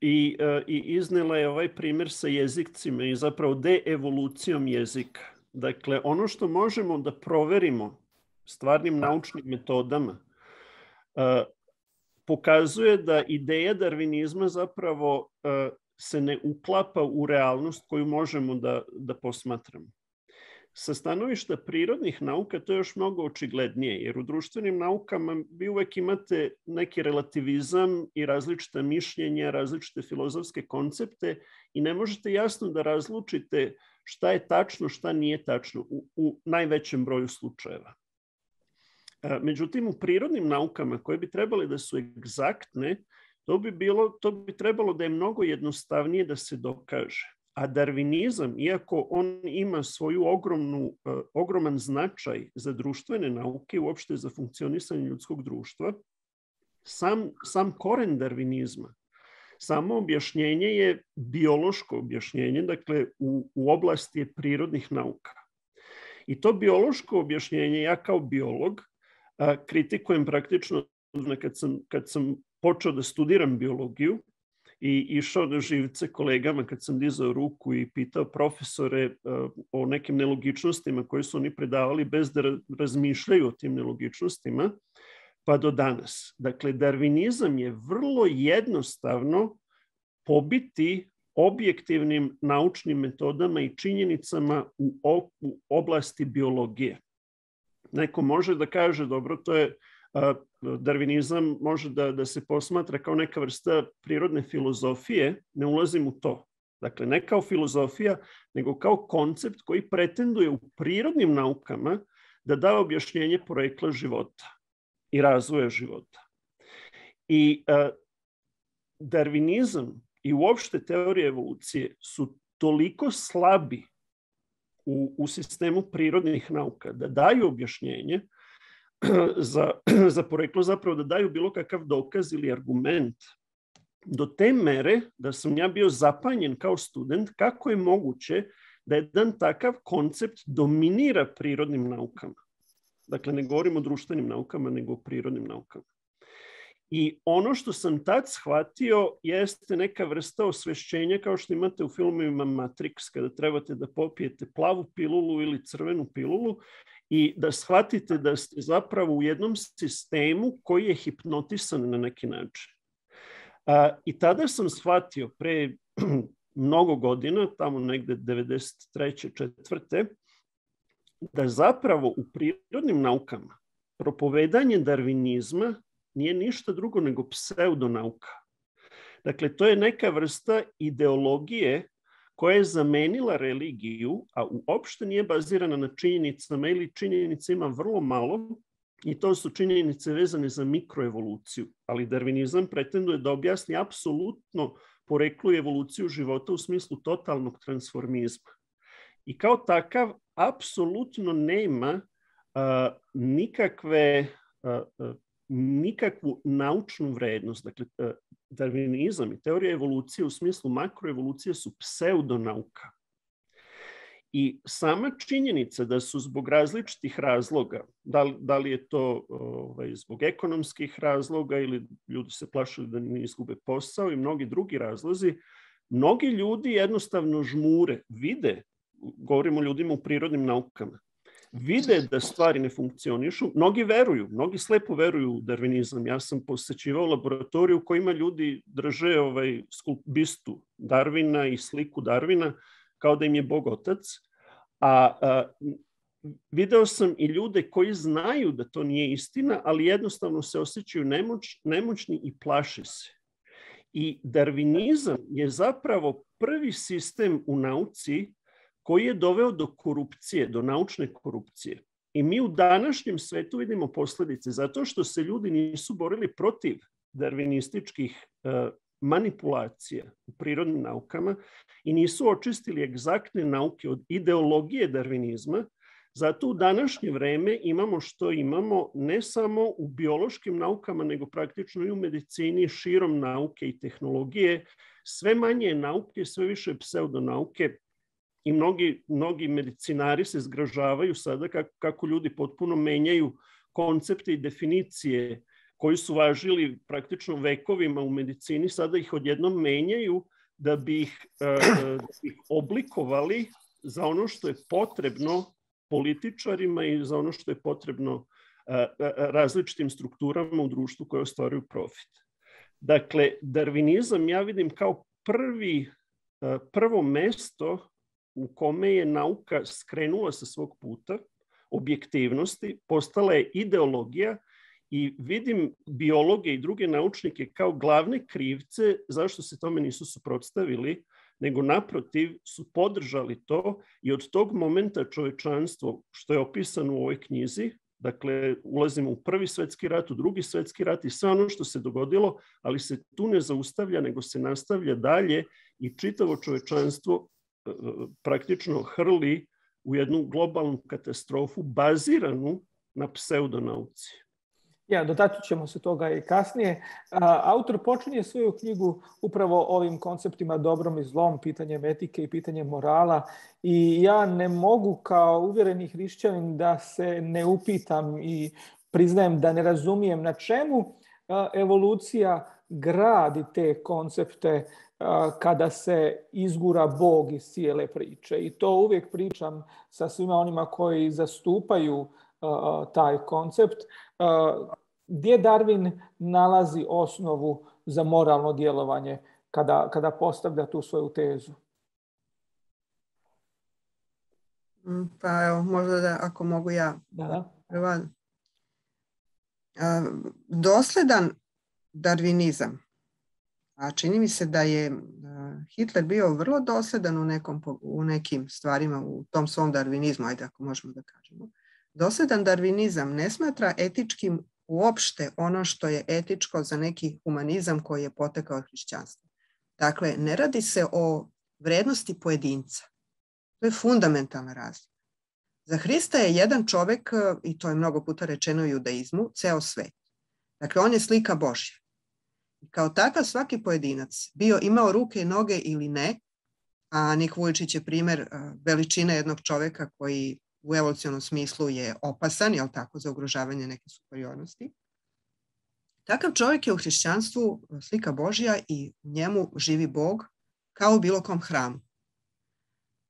i iznela je ovaj primjer sa jezicima i zapravo deevolucijom jezika. Dakle, ono što možemo da proverimo stvarnim naučnim metodama pokazuje da ideja darvinizma zapravo se ne uklapa u realnost koju možemo da posmatramo. Sa stanovišta prirodnih nauka to je još mnogo očiglednije, jer u društvenim naukama vi uvek imate neki relativizam i različita mišljenja, različite filozofske koncepte i ne možete jasno da razlučite šta je tačno, šta nije tačno u najvećem broju slučajeva. Međutim, u prirodnim naukama koje bi trebale da su egzaktne, to bi trebalo da je mnogo jednostavnije da se dokaže. A darvinizam, iako on ima svoju ogroman značaj za društvene nauke, uopšte za funkcionisanje ljudskog društva, sam koren darvinizma, samo objašnjenje je biološko objašnjenje, dakle u oblasti je prirodnih nauka. I to biološko objašnjenje, ja kao biolog kritikujem praktično kad sam počeo da studiram biologiju i išao na živce kolegama kad sam dizao ruku i pitao profesore o nekim nelogičnostima koje su oni predavali bez da razmišljaju o tim nelogičnostima, pa do danas. Dakle, darvinizam je vrlo jednostavno pobiti objektivnim naučnim metodama i činjenicama u oblasti biologije. Neko može da kaže, dobro, to je darvinizam može da se posmatra kao neka vrsta prirodne filozofije, ne ulazim u to. Dakle, ne kao filozofija, nego kao koncept koji pretenduje u prirodnim naukama da da objašnjenje porekla života i razvoja života. I darvinizam i uopšte teorije evolucije su toliko slabi u sistemu prirodnih nauka da daju objašnjenje za poreklo, zapravo da daju bilo kakav dokaz ili argument, do te mere da sam ja bio zapanjen kao student kako je moguće da jedan takav koncept dominira prirodnim naukama. Dakle, ne govorimo o društvenim naukama, nego o prirodnim naukama. I ono što sam tad shvatio jeste neka vrsta osvešćenja kao što imate u filmovima Matrix, kada trebate da popijete plavu pilulu ili crvenu pilulu i da shvatite da ste zapravo u jednom sistemu koji je hipnotisan na neki način. I tada sam shvatio pre mnogo godina, tamo negde 93. 4. da zapravo u prirodnim naukama propovedanje darvinizma nije ništa drugo nego pseudonauka. Dakle, to je neka vrsta ideologije koja je zamenila religiju, a uopšte nije bazirana na činjenicama ili činjenica ima vrlo malo i to su činjenice vezane za mikroevoluciju. Ali darvinizam pretenduje da objasni apsolutno poreklo i evoluciju života u smislu totalnog transformizma. I kao takav apsolutno nema nikakvu naučnu vrednost. Dakle, darvinizam i teorija evolucije u smislu makroevolucije su pseudonauka. I sama činjenica da su zbog različitih razloga, da li je to zbog ekonomskih razloga ili ljudi se plašili da ne izgube posao i mnogi drugi razlozi, mnogi ljudi jednostavno žmure, vide, govorimo o ljudima u prirodnim naukama, vide da stvari ne funkcionišu, mnogi veruju, mnogi slepo veruju u darvinizam. Ja sam posećivao laboratoriju u kojima ljudi drže bistu Darwina i sliku Darwina kao da im je Bog otac, a video sam i ljude koji znaju da to nije istina, ali jednostavno se osjećaju nemoćni i plaše se. I darvinizam je zapravo prvi sistem u nauci koji je doveo do korupcije, do naučne korupcije. I mi u današnjem svetu vidimo posljedice zato što se ljudi nisu borili protiv darvinističkih manipulacija u prirodnim naukama i nisu očistili egzaktne nauke od ideologije darvinizma. Zato u današnje vreme imamo što imamo ne samo u biološkim naukama, nego praktično i u medicini, širom nauke i tehnologije. Sve manje nauke, sve više pseudonauke. I mnogi medicinari se zgražavaju sada kako ljudi potpuno menjaju koncepte i definicije koji su važili praktično vekovima u medicini, sada ih odjednom menjaju da bi ih oblikovali za ono što je potrebno političarima i za ono što je potrebno različitim strukturama u društvu koje ostvaruju profit. Dakle, darvinizam ja vidim kao prvo mesto u kome je nauka skrenula sa svog puta objektivnosti, postala je ideologija i vidim biologe i druge naučnike kao glavne krivce zašto se tome nisu suprotstavili, nego naprotiv su podržali to i od tog momenta čovečanstvo, što je opisano u ovoj knjizi, dakle ulazimo u Prvi svjetski rat, u Drugi svjetski rat i sve ono što se dogodilo, ali se tu ne zaustavlja, nego se nastavlja dalje i čitavo čovečanstvo praktično hrli u jednu globalnu katastrofu baziranu na pseudonauci. Ja, dotaći ćemo se toga i kasnije. Autor počinje svoju knjigu upravo ovim konceptima dobrom i zlom, pitanjem etike i pitanjem morala. I ja ne mogu kao uvjereni hrišćanin da se ne upitam i priznajem da ne razumijem na čemu evolucija gradi te koncepte kada se izgura Bog iz cijele priče. I to uvijek pričam sa svima onima koji zastupaju taj koncept. Gdje Darwin nalazi osnovu za moralno djelovanje kada postavlja tu svoju tezu? Pa evo, možda da ako mogu ja. Prva. Dosledan darvinizam. A čini mi se da je Hitler bio vrlo dosledan u nekim stvarima u tom svom darvinizmu, ajde ako možemo da kažemo. Dosledan darvinizam ne smatra etičkim uopšte ono što je etičko za neki humanizam koji je potekao od hrišćanstva. Dakle, ne radi se o vrednosti pojedinca. To je fundamentalna razlika. Za Hrista je jedan čovjek, i to je mnogo puta rečeno u judaizmu, ceo svet. Dakle, on je slika Božja. I kao takav svaki pojedinac, bio imao ruke i noge ili ne, a Nik Vujčić je primjer veličine jednog čovjeka koji u evolucionom smislu je opasan, jel tako, za ugrožavanje neke superiornosti. Takav čovjek je u hrišćanstvu slika Božja i u njemu živi Bog kao u bilo kom hramu.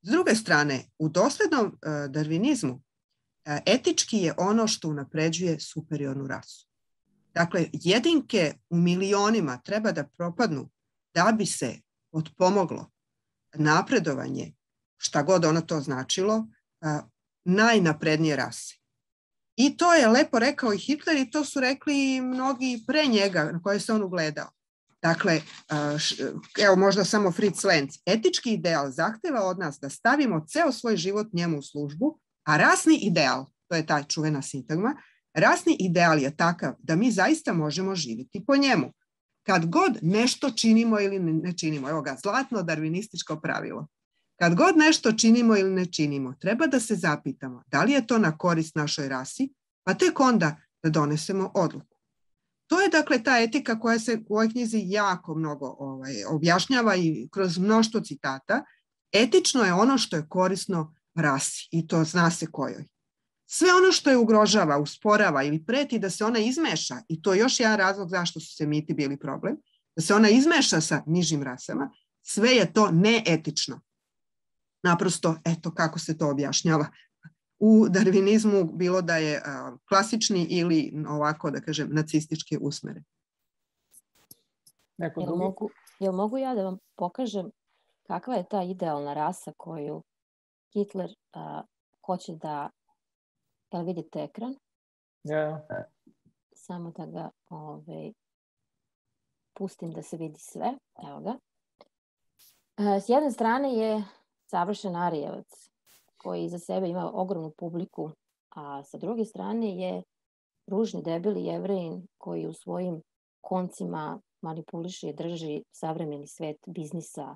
S druge strane, u doslednom darvinizmu etički je ono što unapređuje superiornu rasu. Dakle, jedinke u milionima treba da propadnu da bi se potpomoglo napredovanje, šta god ono to značilo, najnaprednije rase. I to je lepo rekao i Hitler i to su rekli i mnogi pre njega na koje se on ugledao. Dakle, evo možda samo Fritz Lenz. Etički ideal zahteva od nas da stavimo ceo svoj život njemu u službu, a rasni ideal, to je ta čuvena sintagma, rasni ideal je takav da mi zaista možemo živjeti po njemu. Kad god nešto činimo ili ne činimo, evo ga, zlatno darvinističko pravilo. Kad god nešto činimo ili ne činimo, treba da se zapitamo da li je to na korist našoj rasi, pa tek onda da donesemo odluku. To je dakle ta etika koja se u ovoj knjizi jako mnogo objašnjava i kroz mnoštvo citata. Etično je ono što je korisno rasi i to zna se kojoj. Sve ono što je ugrožava, usporava ili preti da se ona izmeša, i to je još jedan razlog zašto su semiti bili problem, da se ona izmeša sa nižim rasama, sve je to neetično. Naprosto, eto kako se to objašnjava u darvinizmu, bilo da je klasični ili ovako, da kažem, nacistički usmeren. Jel mogu ja da vam pokažem kakva je ta idealna rasa koju Hitler hoće da... Jel vidite ekran? Ja. Samo da ga pustim da se vidi sve. Evo ga. S jedne strane je savršen Arijevac koji iza sebe ima ogromnu publiku, a sa druge strane je ružni, debeli Jevrejin koji u svojim koncima manipuliše i drži savremeni svet biznisa,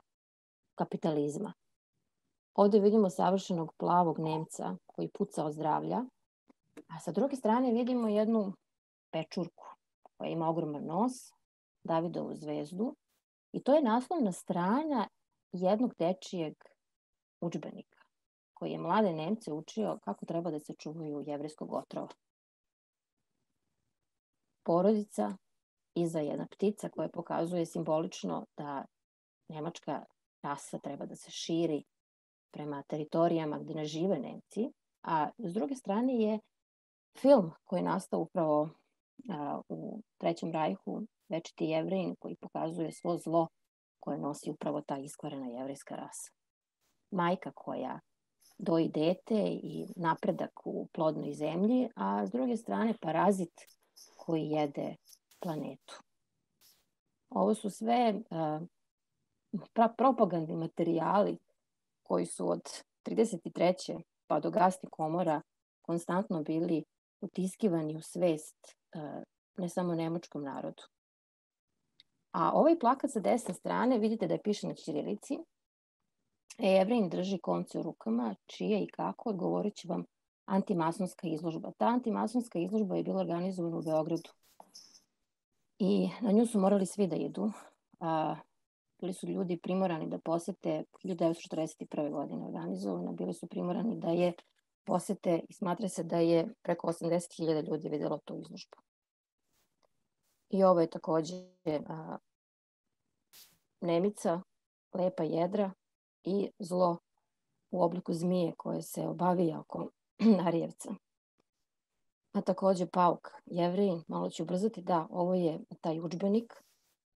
kapitalizma. Ovdje vidimo savršenog plavog Nemca koji puca od zdravlja, a sa druge strane vidimo jednu pečurku koja ima ogroman nos, Davidovu zvezdu, i to je naslovna strana jednog dečijeg udžbenika koji je mlade Nemce učio kako treba da se čuvaju jevrejskog otrova. Porodica, iza jedna ptica koja pokazuje simbolično da nemačka rasa treba da se širi prema teritorijama gdje ne žive Nemci, a s druge strane je film koji je nastao upravo u Trećem rajhu, Večiti Jevrejin, koji pokazuje svo zlo koje nosi upravo ta iskvarena jevrejska rasa. Majka koja doji dete i napredak u plodnoj zemlji, a s druge strane parazit koji jede planetu. Ovo su sve propagandni materijali koji su od 33. pa do gasnih komora konstantno bili utiskivani u svest ne samo nemačkom narodu. A ovaj plakat sa desne strane vidite da je piše na ćirilici Jevrin drži konce u rukama, čije i kako, odgovorit će vam antimasonska izložba. Ta antimasonska izložba je bila organizovana u Beogradu. I na nju su morali svi da idu. Bili su ljudi primorani da posete 1941. godine organizovana. Bili su primorani da je posete i smatra se da je preko 80.000 ljudi vidjelo tu izložbu. I ovo je također Nemica, lepa jedra i zlo u obliku zmije koje se obavija oko Arijevca. A također Pauk, Jevrin, malo ću ubrzati, da, ovo je taj udžbenik.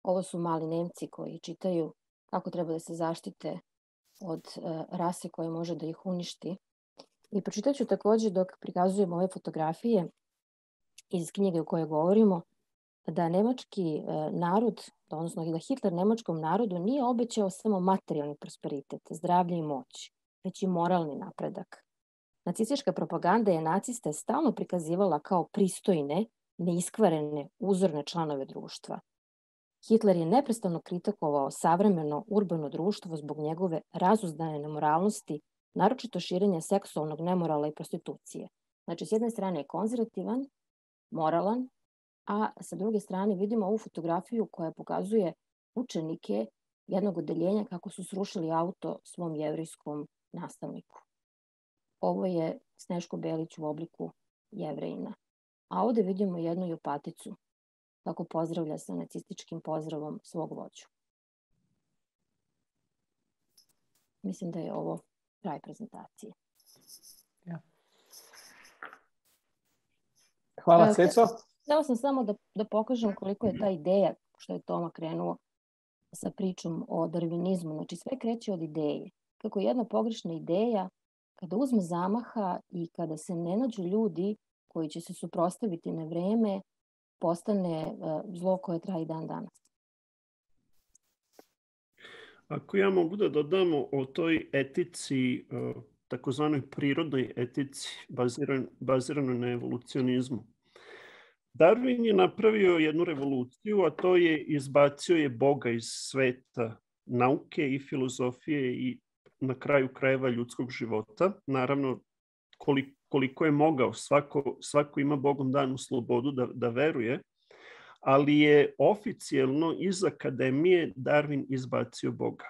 Ovo su mali Nemci koji čitaju kako treba da se zaštite od rase koja može da ih uništi. I pročitat ću također dok prikazujem ove fotografije iz knjige o kojoj govorimo, da nemački narod, odnosno da Hitler nemačkom narodu nije obećao samo materijalni prosperitet, zdravlje i moć, već i moralni napredak. Nacistička propaganda je naciste stalno prikazivala kao pristojne, neiskvarene, uzorne članove društva. Hitler je neprestano kritikovao savremeno urbano društvo zbog njegove razuzdane nemoralnosti, naročito širenja seksualnog nemorala i prostitucije. Znači, s jedne strane je konzervativan, moralan, a sa druge strane vidimo ovu fotografiju koja pokazuje učenike jednog odeljenja kako su srušili auto svom jevrijskom nastavniku. Ovo je Snežko Belić u obliku Jevrejina. A ovdje vidimo jednu Jopaticu kako pozdravlja sa nacističkim pozdravom svog vođu. Mislim da je ovo kraj prezentacije. Ja. Hvala, Ceco. Htjela sam samo da pokažem koliko je ta ideja, što je Toma krenuo sa pričom o darvinizmu. Znači, sve kreće od ideje. Kako jedna pogrešna ideja, kada uzme zamaha i kada se ne nađu ljudi koji će se suprotstaviti na vreme, postane zlo koje traje dan danas. Ako ja mogu da dodamo o toj etici, takozvanoj prirodnoj etici, baziranoj na evolucionizmu. Darwin je napravio jednu revoluciju, a to je izbacio je Boga iz sveta nauke i filozofije i na kraju krajeva ljudskog života. Naravno, koliko je mogao, svako ima Bogom danu slobodu da veruje, ali je oficijelno iz akademije Darwin izbacio Boga.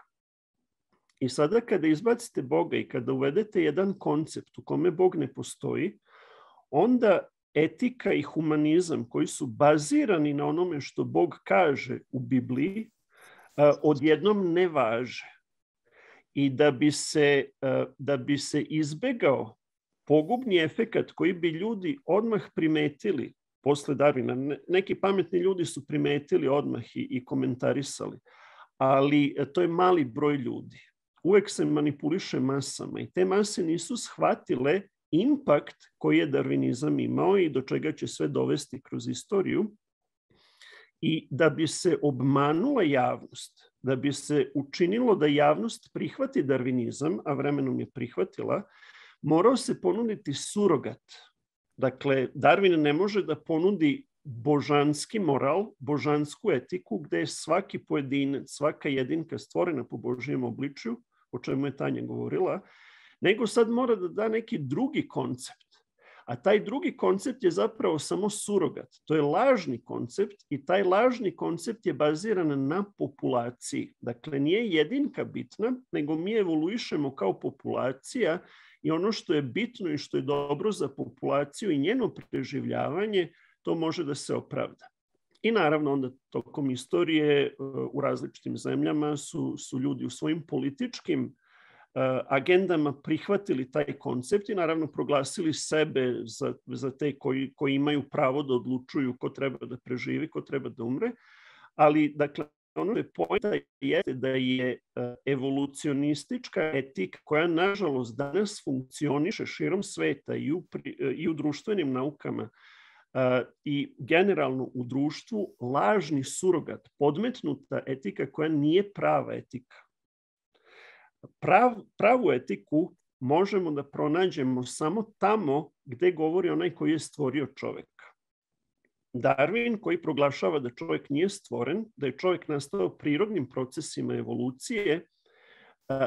I sada kada izbacite Boga i kada uvedete jedan koncept u kome Bog ne postoji, onda etika i humanizam koji su bazirani na onome što Bog kaže u Bibliji, odjednom ne važe. I da bi se izbegao pogubni efekat koji bi ljudi odmah primetili posle Darwina. Neki pametni ljudi su primetili odmah i komentarisali, ali to je mali broj ljudi. Uvek se manipuliše masama i te mase nisu shvatile impakt koji je darvinizam imao i do čega će sve dovesti kroz istoriju. I da bi se obmanula javnost, da bi se učinilo da javnost prihvati darvinizam, a vremenom je prihvatila, morao se ponuditi surogat. Dakle, Darwin ne može da ponudi božanski moral, božansku etiku, gde je svaki pojedinac, svaka jedinka stvorena po Božijem obličju, o čemu je Tanja govorila, nego sad mora da da neki drugi koncept. A taj drugi koncept je zapravo samo surogat. To je lažni koncept i taj lažni koncept je baziran na populaciji. Dakle, nije jedinka bitna, nego mi evoluišemo kao populacija i ono što je bitno i što je dobro za populaciju i njeno preživljavanje, to može da se opravda. I naravno onda tokom istorije u različitim zemljama su ljudi u svojim političkim agendama prihvatili taj koncept i naravno proglasili sebe za te koji imaju pravo da odlučuju ko treba da preživi, ko treba da umre. Ali, dakle, ono je pojenta jeste da je evolucionistička etika koja, nažalost, danas funkcioniše širom sveta i u društvenim naukama i generalno u društvu, lažni surogat, podmetnuta etika koja nije prava etika. Pravu etiku možemo da pronađemo samo tamo gde govori onaj koji je stvorio čoveka. Darwin koji proglašava da čovjek nije stvoren, da je čovjek nastao prirodnim procesima evolucije,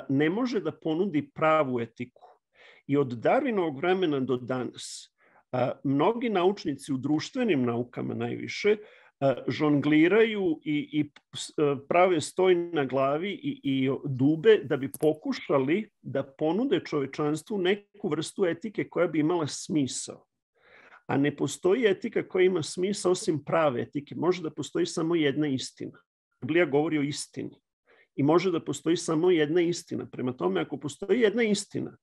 ne može da ponudi pravu etiku. I od Darwinovog vremena do danas mnogi naučnici u društvenim naukama najviše žongliraju i prave stoj na glavi i dube da bi pokušali da ponude čovečanstvu neku vrstu etike koja bi imala smisao. A ne postoji etika koja ima smisao osim prave etike. Može da postoji samo jedna istina. Biblija govori o istini. I može da postoji samo jedna istina. Prema tome, ako postoji jedna istina,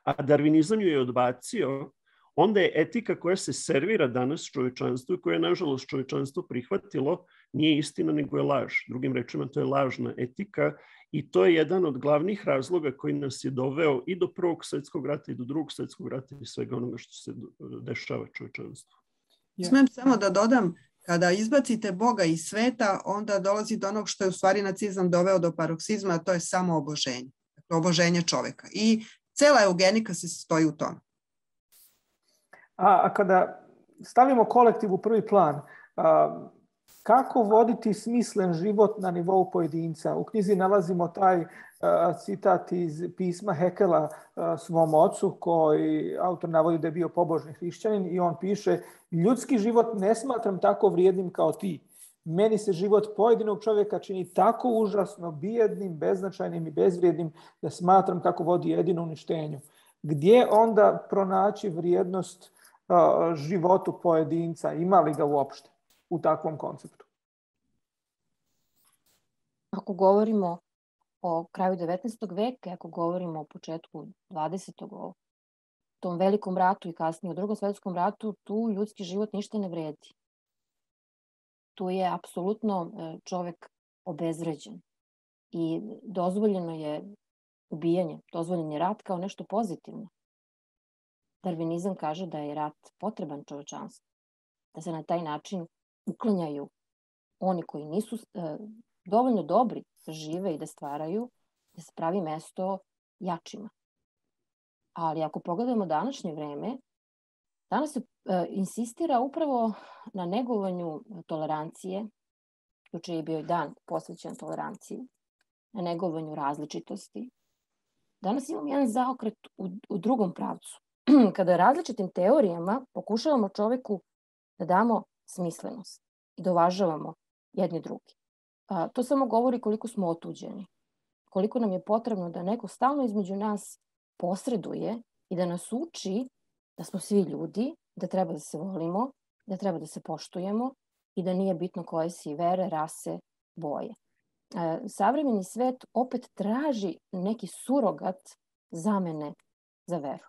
a darvinizam ju je odbacio, onda je etika koja se servira danas čovečanstvu i koja je, nažalost, čovečanstvo prihvatilo, nije istina, nego je laž. Drugim rečima, to je lažna etika i to je jedan od glavnih razloga koji nas je doveo i do Prvog svjetskog rata i do Drugog svjetskog rata i svega onoga što se dešava čovečanstvu. Smijem samo da dodam, kada izbacite Boga iz sveta, onda dolazi do onog što je u stvari nacizam doveo do paroksizma, a to je samo oboženje. Dakle, oboženje čoveka. I cela eugenika se stoji u tome. A kada stavimo kolektiv u prvi plan, kako voditi smislen život na nivou pojedinca? U knjizi nalazimo taj citat iz pisma Hekela svom ocu, koji autor navodi da je bio pobožni hrišćanin i on piše: ljudski život ne smatram tako vrijednim kao ti. Meni se život pojedinog čovjeka čini tako užasno bijednim, beznačajnim i bezvrijednim da smatram kako vodi jedino uništenju. Gdje onda pronaći vrijednost životu pojedinca? Ima li ga uopšte u takvom konceptu? Ako govorimo o kraju 19. veka, ako govorimo o početku 20. o tom velikom ratu i kasnije o Drugom svjetskom ratu, tu ljudski život ništa ne vredi. Tu je apsolutno čovjek obezvređen i dozvoljeno je ubijanje, dozvoljen je rat kao nešto pozitivno. Darvinizam kaže da je rat potreban čovečanstvu, da se na taj način uklanjaju oni koji nisu dovoljno dobri da žive i da stvaraju, da se pravi mesto jačima. Ali ako pogledamo današnje vreme, danas se insistira upravo na negovanju tolerancije, juče je bio dan posvećen toleranciji, na negovanju različitosti. Danas imamo jedan zaokret u drugom pravcu. Kada različitim teorijama pokušavamo čoveku da damo smislenost i da uvažavamo jedni drugi. To samo govori koliko smo otuđeni, koliko nam je potrebno da neko stalno između nas posreduje i da nas uči da smo svi ljudi, da treba da se volimo, da treba da se poštujemo i da nije bitno koje si vere, rase, boje. Savremeni svet opet traži neki surogat zamene za veru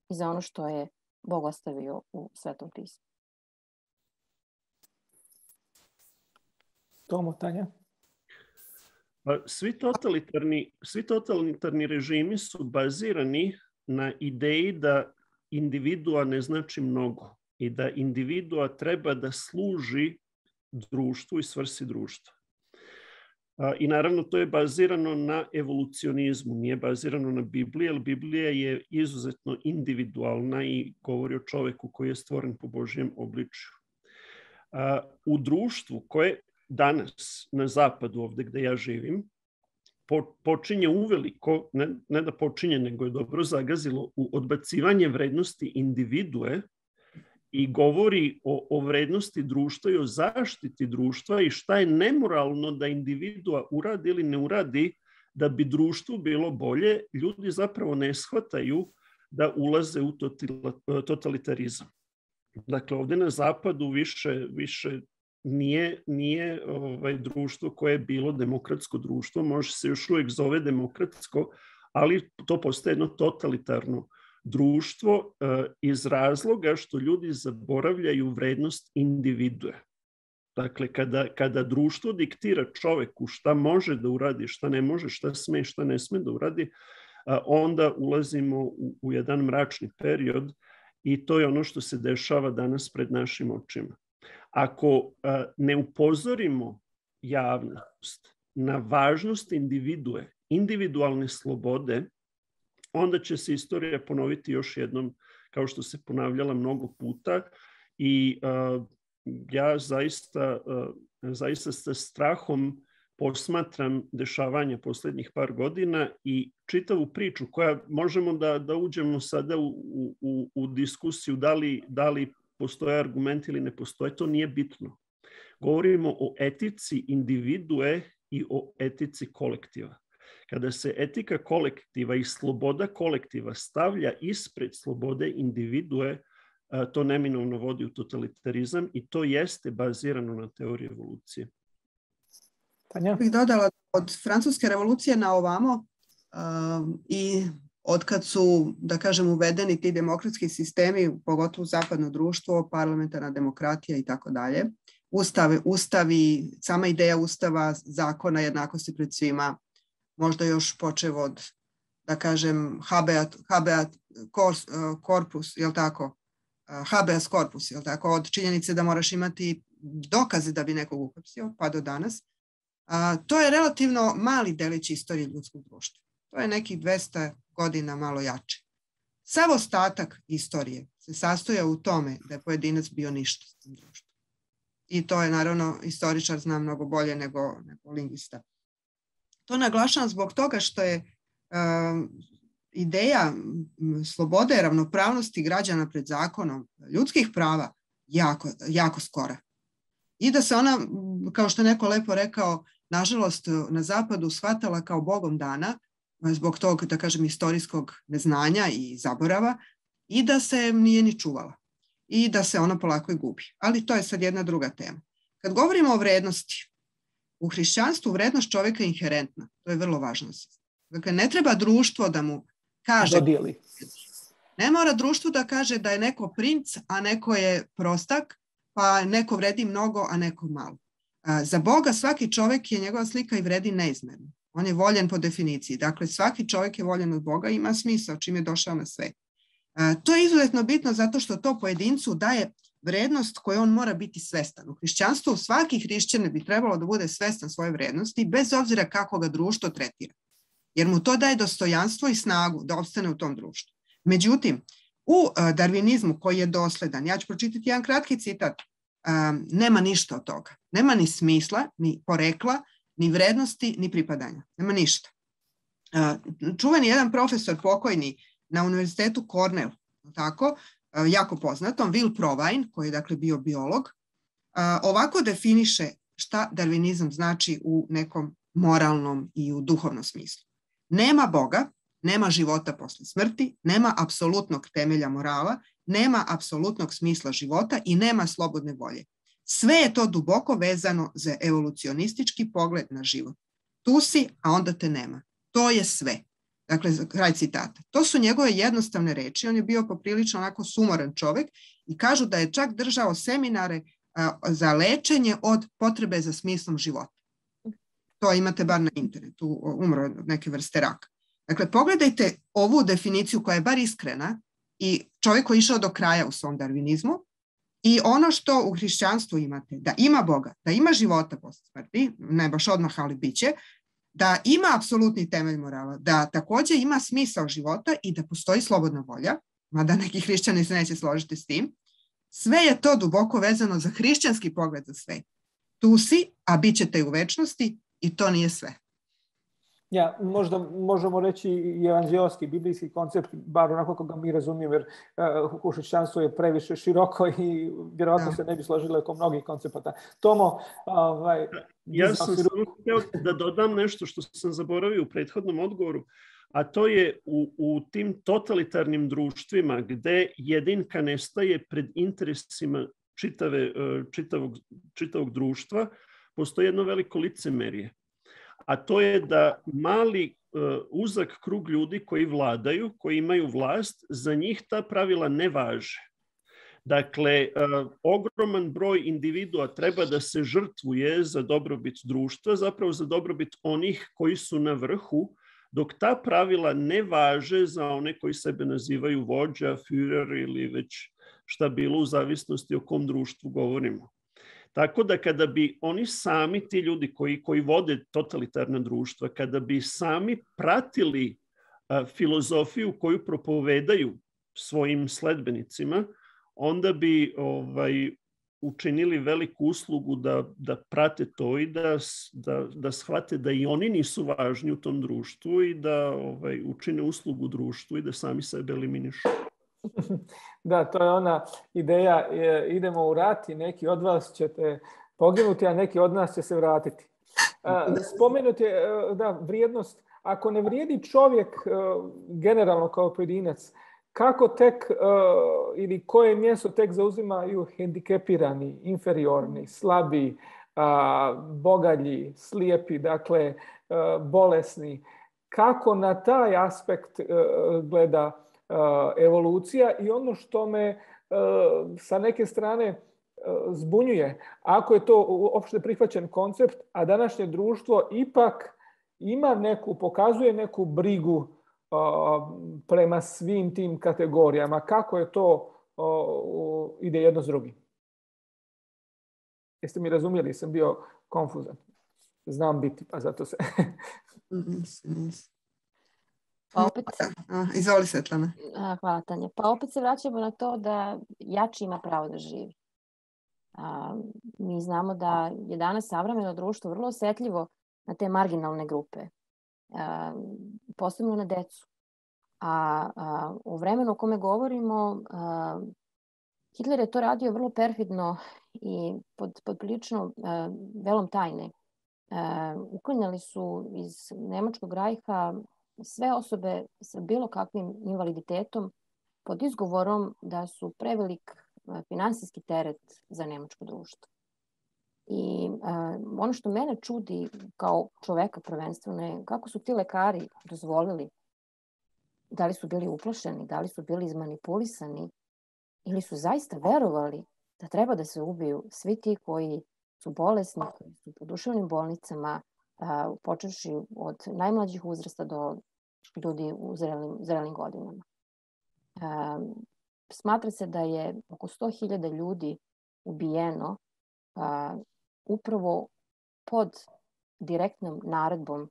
i za ono što je Bog ostavio u Svetom pismu. Tomo, Tanja? Svi totalitarni režimi su bazirani na ideji da individua ne znači mnogo i da individua treba da služi društvu i svrsi društva. I naravno to je bazirano na evolucionizmu, nije bazirano na Bibliji, jer Biblija je izuzetno individualna i govori o čoveku koji je stvoren po Božjem obličju. U društvu koje danas na zapadu, ovde gde ja živim, počinje uveliko, ne da počinje, nego je dobro zagazilo u odbacivanje vrednosti individue i govori o vrednosti društva i o zaštiti društva i šta je nemoralno da individua uradi ili ne uradi da bi društvu bilo bolje, ljudi zapravo ne shvataju da ulaze u totalitarizam. Dakle, ovde na zapadu više nije društvo koje je bilo demokratsko društvo, može se još uvijek zove demokratsko, ali to postaje jedno totalitarno društvo iz razloga što ljudi zaboravljaju vrednost individue. Dakle, kada društvo diktira čoveku šta može da uradi, šta ne može, šta sme, šta ne sme da uradi, onda ulazimo u jedan mračni period i to je ono što se dešava danas pred našim očima. Ako ne upozorimo javnost na važnost individue, individualne slobode, onda će se istorija ponoviti još jednom, kao što se ponavljala mnogo puta. I ja zaista sa strahom posmatram dešavanja posljednjih par godina i čitavu priču koja možemo da uđemo sada u diskusiju da li postoje argumenti ili ne postoje, to nije bitno. Govorimo o etici individue i o etici kolektiva. Kada se etika kolektiva i sloboda kolektiva stavlja ispred slobode individue, to neminovno vodi u totalitarizam i to jeste bazirano na teoriji evolucije. Tanja? Bih dodala od francuske revolucije na ovamo i od kad su, da kažem, uvedeni ti demokratski sistemi, pogotovo u zapadno društvo, parlamentarna demokratija i tako dalje, ustavi, sama ideja ustava, zakona, jednakosti pred svima, možda još počev od, da kažem, habeas corpus, jel tako? Habeas corpus, jel tako? Od činjenice da moraš imati dokaze da bi nekog uhapsio, pa do danas. To je relativno mali delić istorije ljudskog društva. To je nekih 200 godina malo jače. Sav ostatak istorije se sastoja u tome da je pojedinac bio ništa s tim društvom. I to je, naravno, istoričar zna mnogo bolje nego lingvista. To naglašavam zbog toga što je ideja slobode, ravnopravnosti građana pred zakonom, ljudskih prava jako, jako skora. I da se ona, kao što je neko lepo rekao, nažalost na zapadu shvatala kao bogom dana zbog tog, da kažem, istorijskog neznanja i zaborava i da se nije ni čuvala i da se ona polako i gubi. Ali to je sad jedna druga tema. Kad govorimo o vrednosti, u hrišćanstvu vrednost čovjeka je inherentna. To je vrlo važno. Dakle, ne treba društvo da mu kaže... Dodijeli. Ne mora društvo da kaže da je neko princ, a neko je prostak, pa neko vredi mnogo, a neko malo. Za Boga svaki čovjek je njegova slika i vredi neizmjerno. On je voljen po definiciji. Dakle, svaki čovjek je voljen od Boga i ima smisao čim je došao na svet. To je izuzetno bitno zato što to pojedincu daje vrednost koju on mora biti svestan. U hrišćanstvu svaki hrišćanin bi trebalo da bude svestan svoje vrednosti bez obzira kako ga društvo tretira. Jer mu to daje dostojanstvo i snagu da opstane u tom društvu. Međutim, u darvinizmu koji je dosledan, ja ću pročitati jedan kratki citat, nema ništa od toga. Nema ni smisla, ni porekla, ni vrednosti, ni pripadanja. Nema ništa. Čuveni jedan profesor pokojni na univerzitetu Cornell, tako, jako poznatom, Will Provine, koji je dakle bio biolog, ovako definiše šta darvinizam znači u nekom moralnom i u duhovnom smislu. Nema Boga, nema života posle smrti, nema apsolutnog temelja morala, nema apsolutnog smisla života i nema slobodne volje. Sve je to duboko vezano za evolucionistički pogled na život. Tu si, a onda te nema. To je sve. Dakle, kraj citata. To su njegove jednostavne reči. On je bio poprilično onako sumoran čovjek i kažu da je čak držao seminare za lečenje od potrebe za smislom života. To imate bar na internetu, umro od neke vrste raka. Dakle, pogledajte ovu definiciju koja je bar iskrena i čovjek koji je išao do kraja u svom darvinizmu i ono što u hrišćanstvu imate, da ima Boga, da ima života posle smrti, ne baš odmah, ali bit će, da ima apsolutni temelj morala, da također ima smisao života i da postoji slobodna volja, mada neki hrišćani se neće složiti s tim, sve je to duboko vezano za hrišćanski pogled za svet. Tu si, a bit ćete u večnosti i to nije sve. Ja, možda možemo reći i evanđeoski, biblijski koncept, bar onako kako ga mi razumijemo, jer hrišćanstvo je previše široko i vjerojatno se ne bi složilo oko mnogih koncepata. Tomo, ja sam htio da dodam nešto što sam zaboravio u prethodnom odgovoru, a to je u tim totalitarnim društvima gde jedinka nestaje pred interesima čitavog društva, postoji jedno veliko licemerje. A to je da mali uzak krug ljudi koji vladaju, koji imaju vlast, za njih ta pravila ne važe. Dakle, ogroman broj individua treba da se žrtvuje za dobrobit društva, zapravo za dobrobit onih koji su na vrhu, dok ta pravila ne važe za one koji sebe nazivaju vođa, Führer ili već šta bilo u zavisnosti o kom društvu govorimo. Tako da kada bi oni sami, ti ljudi koji vode totalitarna društva, kada bi sami pratili filozofiju koju propovedaju svojim sledbenicima, onda bi učinili veliku uslugu da prate to i da shvate da i oni nisu važni u tom društvu i da učine uslugu društvu i da sami sebe eliminišu. Da, to je ona ideja, idemo u rat i neki od vas ćete poginuti, a neki od nas će se vratiti. Spomenut je vrijednost. Ako ne vrijedi čovjek generalno kao pojedinac, kako tek ili koje mjesto tek zauzimaju hendikepirani, inferiorni, slabi, bogalji, slijepi, dakle bolesni. Kako na taj aspekt gleda evolucija i ono što me sa neke strane zbunjuje, ako je to opšte prihvaćen koncept, a današnje društvo ipak pokazuje neku brigu prema svim tim kategorijama. Kako je to ide jedno s drugim? Jeste mi razumjeli? Sam bio konfuzan. Znam biti, pa zato se... Pa opet... Izvoli, Svetlana. Hvala, Tanja. Pa opet se vraćamo na to da jači ima pravo da živi. Mi znamo da je danas savremeno društvo vrlo osjetljivo na te marginalne grupe, posebno na decu. U vremenu o kome govorimo, Hitler je to radio vrlo perfidno i pod prilično velom tajne. Uklanjali su iz Nemačkog rajha sve osobe sa bilo kakvim invaliditetom pod izgovorom da su prevelik finansijski teret za nemačko društvo. I ono što mene čudi kao čoveka prvenstveno je kako su ti lekari dozvolili, da li su bili uplašeni, da li su bili izmanipulisani ili su zaista verovali da treba da se ubiju svi ti koji su bolesni, koji su po duševnim bolnicama, počevši od najmlađih uzrasta do ljudi u zrelim godinama. Smatra se da je oko 100.000 ljudi ubijeno upravo pod direktnom naredbom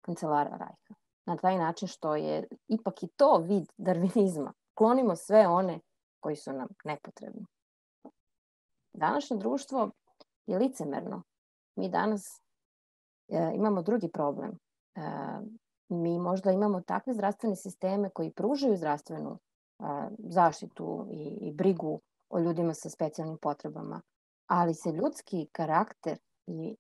kancelara Rajha. Na taj način što je ipak i to vid darvinizma. Klonimo sve one koji su nam nepotrebni. Današnje društvo je licemerno. Mi danas imamo drugi problem. Mi možda imamo takve zdravstvene sisteme koji pružaju zdravstvenu zaštitu i brigu o ljudima sa specijalnim potrebama, ali se ljudski karakter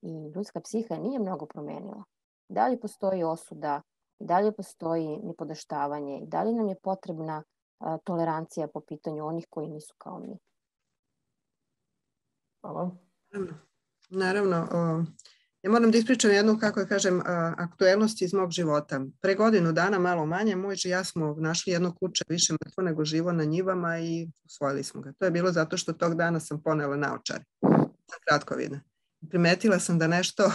i ljudska psiha nije mnogo promenila. Dalje postoji osuda, dalje postoji nipodaštavanje i dalje nam je potrebna tolerancija po pitanju onih koji nisu kao mi. Hvala. Naravno, ja moram da ispričam jednu, kako kažem, aktuelnost iz mog života. Pre godinu dana, malo manje, muž i ja smo našli jedno kuće više mrtvo nego živo na njivama i usvojili smo ga. To je bilo zato što tog dana sam ponela naočare. Kratkovida. Primetila sam da nešto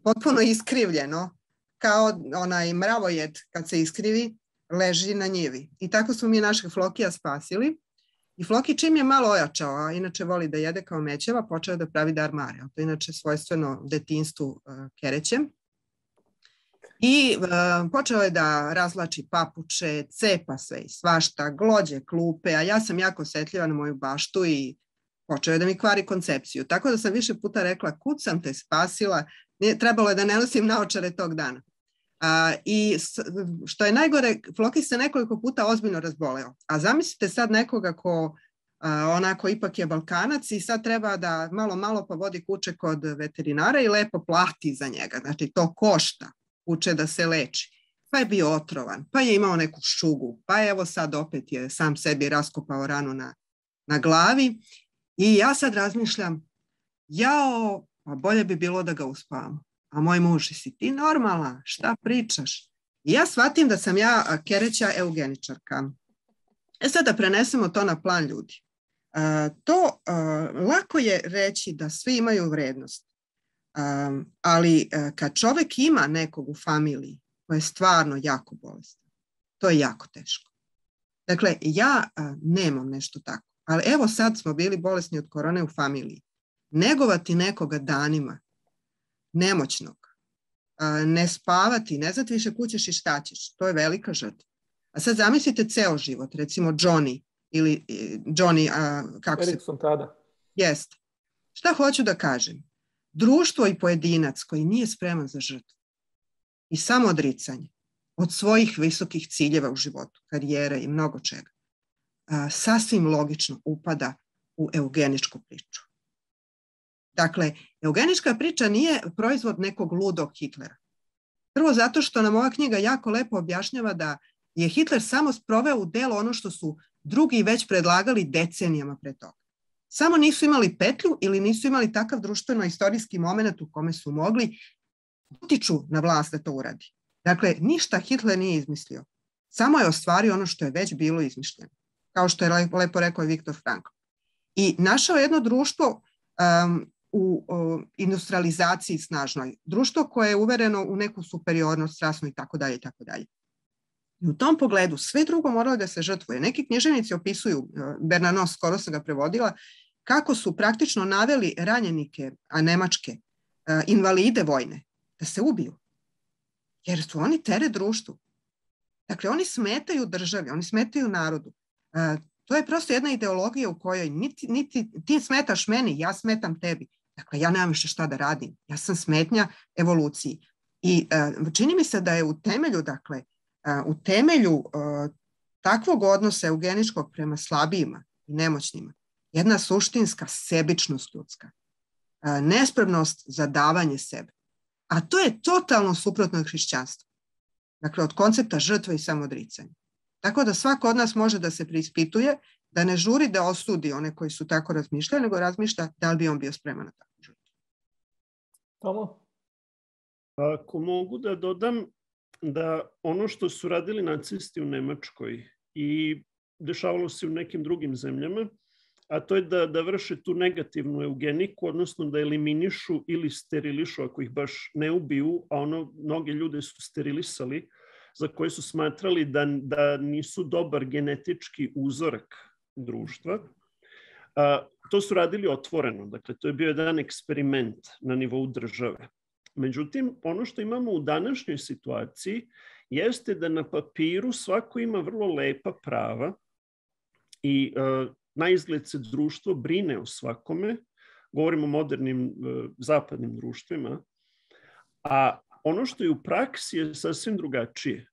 potpuno iskrivljeno, kao onaj mravojed kad se iskrivi, leži na njivi. I tako smo mi našeg Flokija spasili. I Floki čim je malo ojačao, a inače voli da jede kao mećeva, počeo da pravi darmare. To je inače svojstveno detinjstvu kerećem. I počeo je da razlači papuče, cepa sve i svašta, glođe klupe, a ja sam jako osjetljiva na moju baštu i počeo je da mi kvari koncepciju. Tako da sam više puta rekla, kud sam te spasila, trebalo je da ne nosim naočare tog dana. I što je najgore, Floki se nekoliko puta ozbiljno razboleo. A zamislite sad nekoga ko onako ipak je Balkanac i sad treba da malo pa vodi kuće kod veterinara i lepo plati za njega. Znači to košta kuće da se leči. Pa je bio otrovan, pa je imao neku šugu, pa evo sad opet je sam sebi raskopao ranu na glavi. I ja sad razmišljam, pa bolje bi bilo da ga uspavamo. A moj muž, si ti normalna, šta pričaš? I ja shvatim da sam ja kereća eugeničarka. Sad da prenesemo to na plan ljudi. Lako je reći da svi imaju vrednost. Ali kad čovjek ima nekog u familiji koji je stvarno jako bolestan, to je jako teško. Dakle, ja nemam nešto tako. Ali evo sad smo bili bolesni od korone u familiji. Negovati nekoga danima, nemoćnog, ne spavati, ne znati više kućeš i šta ćeš, to je velika žrtva. A sad zamislite ceo život, recimo Johnny ili Johnny, kako Erikson tada. Jest. Šta hoću da kažem? Društvo i pojedinac koji nije spreman za žrtvu i samoodricanje od svojih visokih ciljeva u životu, karijere i mnogo čega, sasvim logično upada u eugeničku priču. Dakle, eugenička priča nije proizvod nekog ludog Hitlera. Prvo zato što nam ova knjiga jako lepo objašnjava da je Hitler samo sproveo u delo ono što su drugi već predlagali decenijama pre toga. Samo nisu imali petlju ili nisu imali takav društveno-istorijski moment u kome su mogli utiču na vlast da to uradi. Dakle, ništa Hitler nije izmislio. Samo je ostvario ono što je već bilo izmišljeno. Kao što je lepo rekao Viktor Frankl. I našao jedno društvo u industrializaciji snažnoj. Društvo koje je uvereno u neku superiornost rasnu i tako dalje i tako dalje. I u tom pogledu sve drugo moralo da se žrtvuje. Neki književnici opisuju, Bernanos, skoro sam ga prevodila, kako su praktično naveli ranjenike, a nemačke, invalide vojne, da se ubiju. Jer su oni teret društvu. Dakle, oni smetaju državi, oni smetaju narodu. To je prosto jedna ideologija u kojoj niti ti smetaš meni, ja smetam tebi. Dakle, ja nemam više šta da radim. Ja sam smetnja evoluciji. I čini mi se da je u temelju, dakle, u temelju takvog odnosa eugeničkog prema slabijima i nemoćnima jedna suštinska sebičnost ljudska. Nespremnost za davanje sebe. A to je totalno suprotno od hrišćanstva. Dakle, od koncepta žrtve i samoodricanja. Tako da svako od nas može da se preispituje, da ne žuri da osudi one koji su tako razmišljali, nego razmišlja da li bi on bio spreman na takvu žrtvu. Tomo? Ako mogu da dodam da ono što su radili nacisti u Nemačkoj i dešavalo se u nekim drugim zemljama, a to je da vrše tu negativnu eugeniku, odnosno da eliminišu ili sterilišu ako ih baš ne ubiju, a mnoge ljude su sterilisali, za koje su smatrali da nisu dobar genetički uzorak društva. To su radili otvoreno, dakle to je bio jedan eksperiment na nivou države. Međutim, ono što imamo u današnjoj situaciji jeste da na papiru svako ima vrlo lepa prava i na izgled se društvo brine o svakome, govorimo o modernim zapadnim društvima, a ono što je u praksi je sasvim drugačije.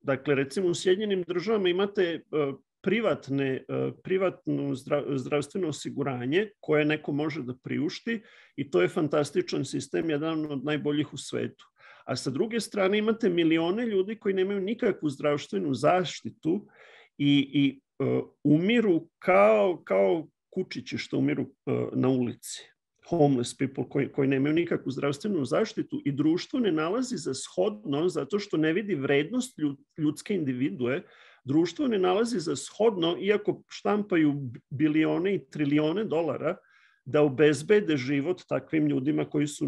Dakle, recimo u Sjedinjenim Državama imate privatno zdravstveno osiguranje koje neko može da priušti i to je fantastičan sistem, jedan od najboljih u svetu. A sa druge strane imate milione ljudi koji nemaju nikakvu zdravstvenu zaštitu i umiru kao kučići što umiru na ulici. Homeless people koji nemaju nikakvu zdravstvenu zaštitu i društvo ne nalazi za shodno, zato što ne vidi vrednost ljudske individue, društvo ne nalazi za shodno, iako štampaju bilione i trilione dolara, da obezbede život takvim ljudima koji su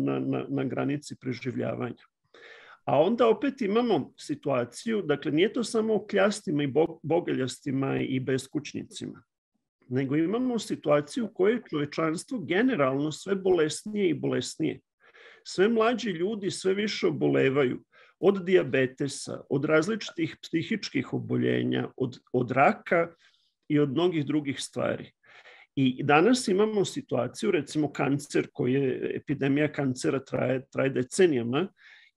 na granici preživljavanja. A onda opet imamo situaciju, dakle nije to samo o kljastima i bogaljastima i beskućnicima, nego imamo situaciju u kojoj je čovečanstvo generalno sve bolesnije i bolesnije. Sve mlađi ljudi sve više obolevaju od dijabetesa, od različitih psihičkih oboljenja, od raka i od mnogih drugih stvari. I danas imamo situaciju, recimo kancer, epidemija kancera traje decenijama,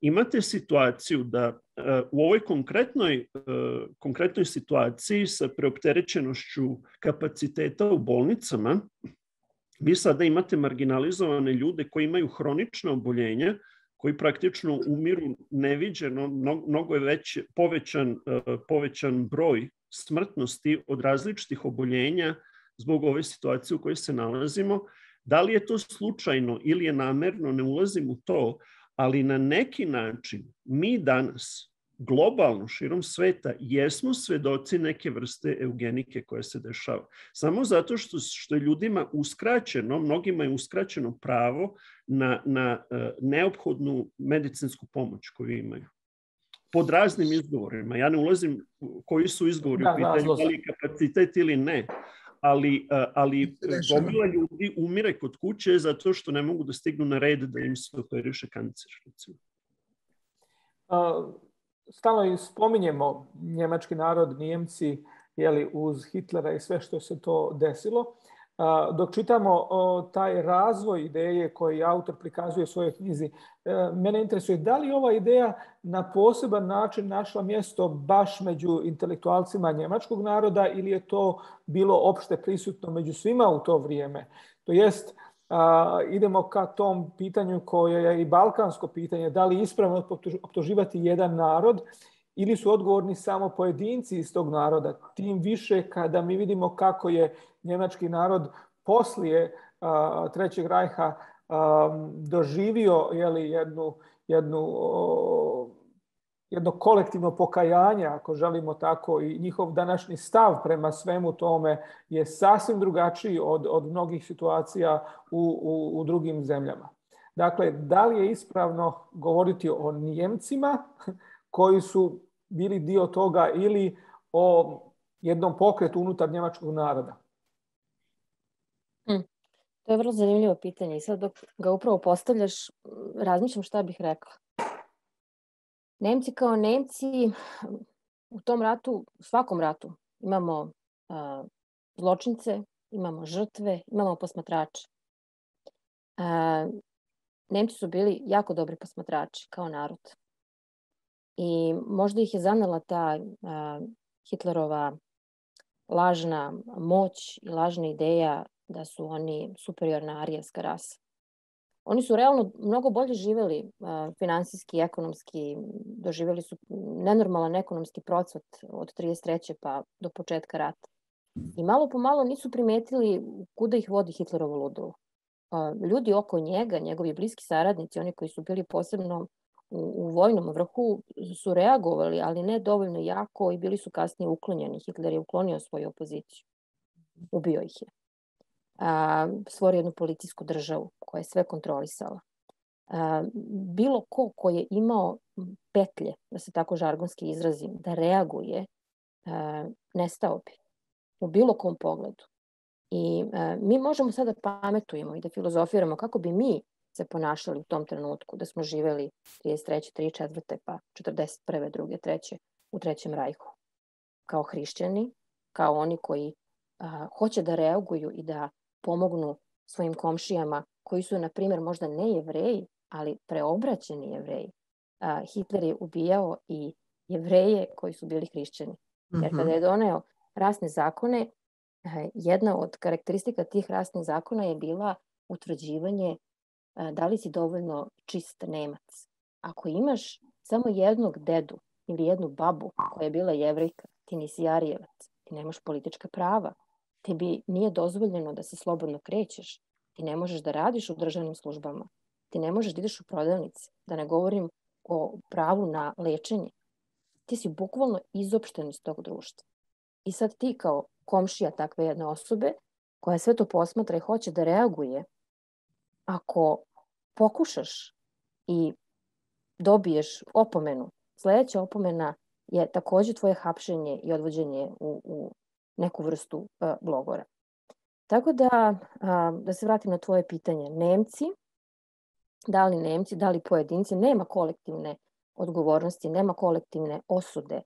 imate situaciju da u ovoj konkretnoj situaciji sa preopterećenošću kapaciteta u bolnicama, vi sada imate marginalizovane ljude koji imaju hronična oboljenja, koji praktično umiru neviđeno, mnogo je već povećan broj smrtnosti od različitih oboljenja zbog ove situacije u kojoj se nalazimo. Da li je to slučajno ili je namerno, ne ulazim u to, ali na neki način mi danas globalno širom sveta jesmo svedoci neke vrste eugenike koja se dešava. Samo zato što je ljudima uskraćeno, mnogima je uskraćeno pravo na neophodnu medicinsku pomoć koju imaju. Pod raznim izgovorima. Ja ne ulazim koji su izgovori u pitanju, da li kapacitet ili ne. Ali gomila ljudi umire kod kuće zato što ne mogu da stignu na red da im se operiše kancer. Stalno spominjemo njemački narod, Nijemci, uz Hitlera i sve što se to desilo. dok čitamo taj razvoj ideje koji autor prikazuje u svojoj knjizi, mene interesuje da li ova ideja na poseban način našla mjesto baš među intelektualcima njemačkog naroda ili je to bilo opšte prisutno među svima u to vrijeme. To jest, idemo ka tom pitanju koje je i balkansko pitanje, da li je ispravno optuživati jedan narod ili su odgovorni samo pojedinci iz tog naroda. Tim više kada mi vidimo kako je njemački narod poslije Trećeg rajha doživio jedno kolektivno pokajanje, ako želimo tako, i njihov današnji stav prema svemu tome je sasvim drugačiji od mnogih situacija u drugim zemljama. Dakle, da li je ispravno govoriti o Nijemcima koji su bili dio toga ili o jednom pokretu unutar njemačkog naroda? To je vrlo zanimljivo pitanje i sad dok ga upravo postavljaš, razmišljam šta bih rekla. Nemci kao Nemci u tom ratu, u svakom ratu imamo zločince, imamo žrtve, imamo posmatrače. Nemci su bili jako dobri posmatrači kao narod. I možda ih je zanela ta Hitlerova lažna moć i lažna ideja da su oni superiorna arijevska rasa. Oni su realno mnogo bolje živjeli finansijski, ekonomski, doživjeli su nenormalan ekonomski procvat od 1933. pa do početka rata. I malo po malo nisu primetili kuda ih vodi Hitlerovo ludilo. Ljudi oko njega, njegovi bliski saradnici, oni koji su bili posebno u vojnom vrhu, su reagovali, ali ne dovoljno jako i bili su kasnije uklonjeni. Hitler je uklonio svoju opoziciju. Ubio ih je. Stvorio jednu policijsku državu koja je sve kontrolisala. Bilo ko je imao petlje, da se tako žargonski izrazim, da reaguje, nestao bi u bilo kom pogledu. I mi možemo sada pametujemo i da filozofiramo kako bi mi se ponašali u tom trenutku, da smo živeli 33. 34. pa 41. 2. 3. u Trećem rajhu. Kao hrišćani, kao oni koji hoće da reaguju i da pomognu svojim komšijama koji su, na primjer, možda ne Jevreji, ali preobraćeni Jevreji. Hitler je ubijao i Jevreje koji su bili hrišćani. Jer kada je doneo rasne zakone, jedna od karakteristika tih rasnih zakona je bila utvrđivanje da li si dovoljno čist Nemac. Ako imaš samo jednog dedu ili jednu babu koja je bila Jevrejka, ti nisi Arijevac, ti nemaš politička prava, tebi nije dozvoljeno da se slobodno krećeš, ti ne možeš da radiš u državnim službama, ti ne možeš da ideš u prodavnice, da ne govorim o pravu na lečenje. Ti si bukvalno izopšten iz tog društva. I sad ti kao komšija takve jedne osobe, koja sve to posmatra i hoće da reaguje, ako pokušaš i dobiješ opomenu, sljedeća opomena je također tvoje hapšenje i odvođenje u neku vrstu logora. Tako da se vratim na tvoje pitanje. Nemci, da li pojedinci, nema kolektivne odgovornosti, nema kolektivne osude,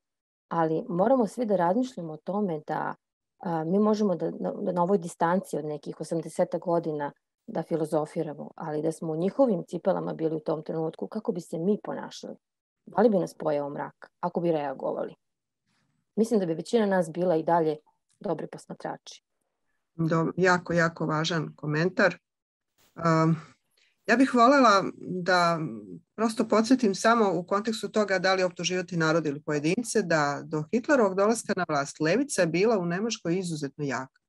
ali moramo svi da razmišljamo o tome da mi možemo da na ovoj distanci od nekih 80 godina da filozofiramo, ali da smo u njihovim cipelama bili u tom trenutku, kako bi se mi ponašali? Da li bi nas pojeo mrak ako bi reagovali? Mislim da bi većina nas bila i dalje dobri posmatrači. Jako, jako važan komentar. Ja bih voljela da prosto podsjetim samo u kontekstu toga da li optuživati narod ili pojedince, da do Hitlerovog dolaska na vlast levica je bila u Nemačkoj izuzetno jaka.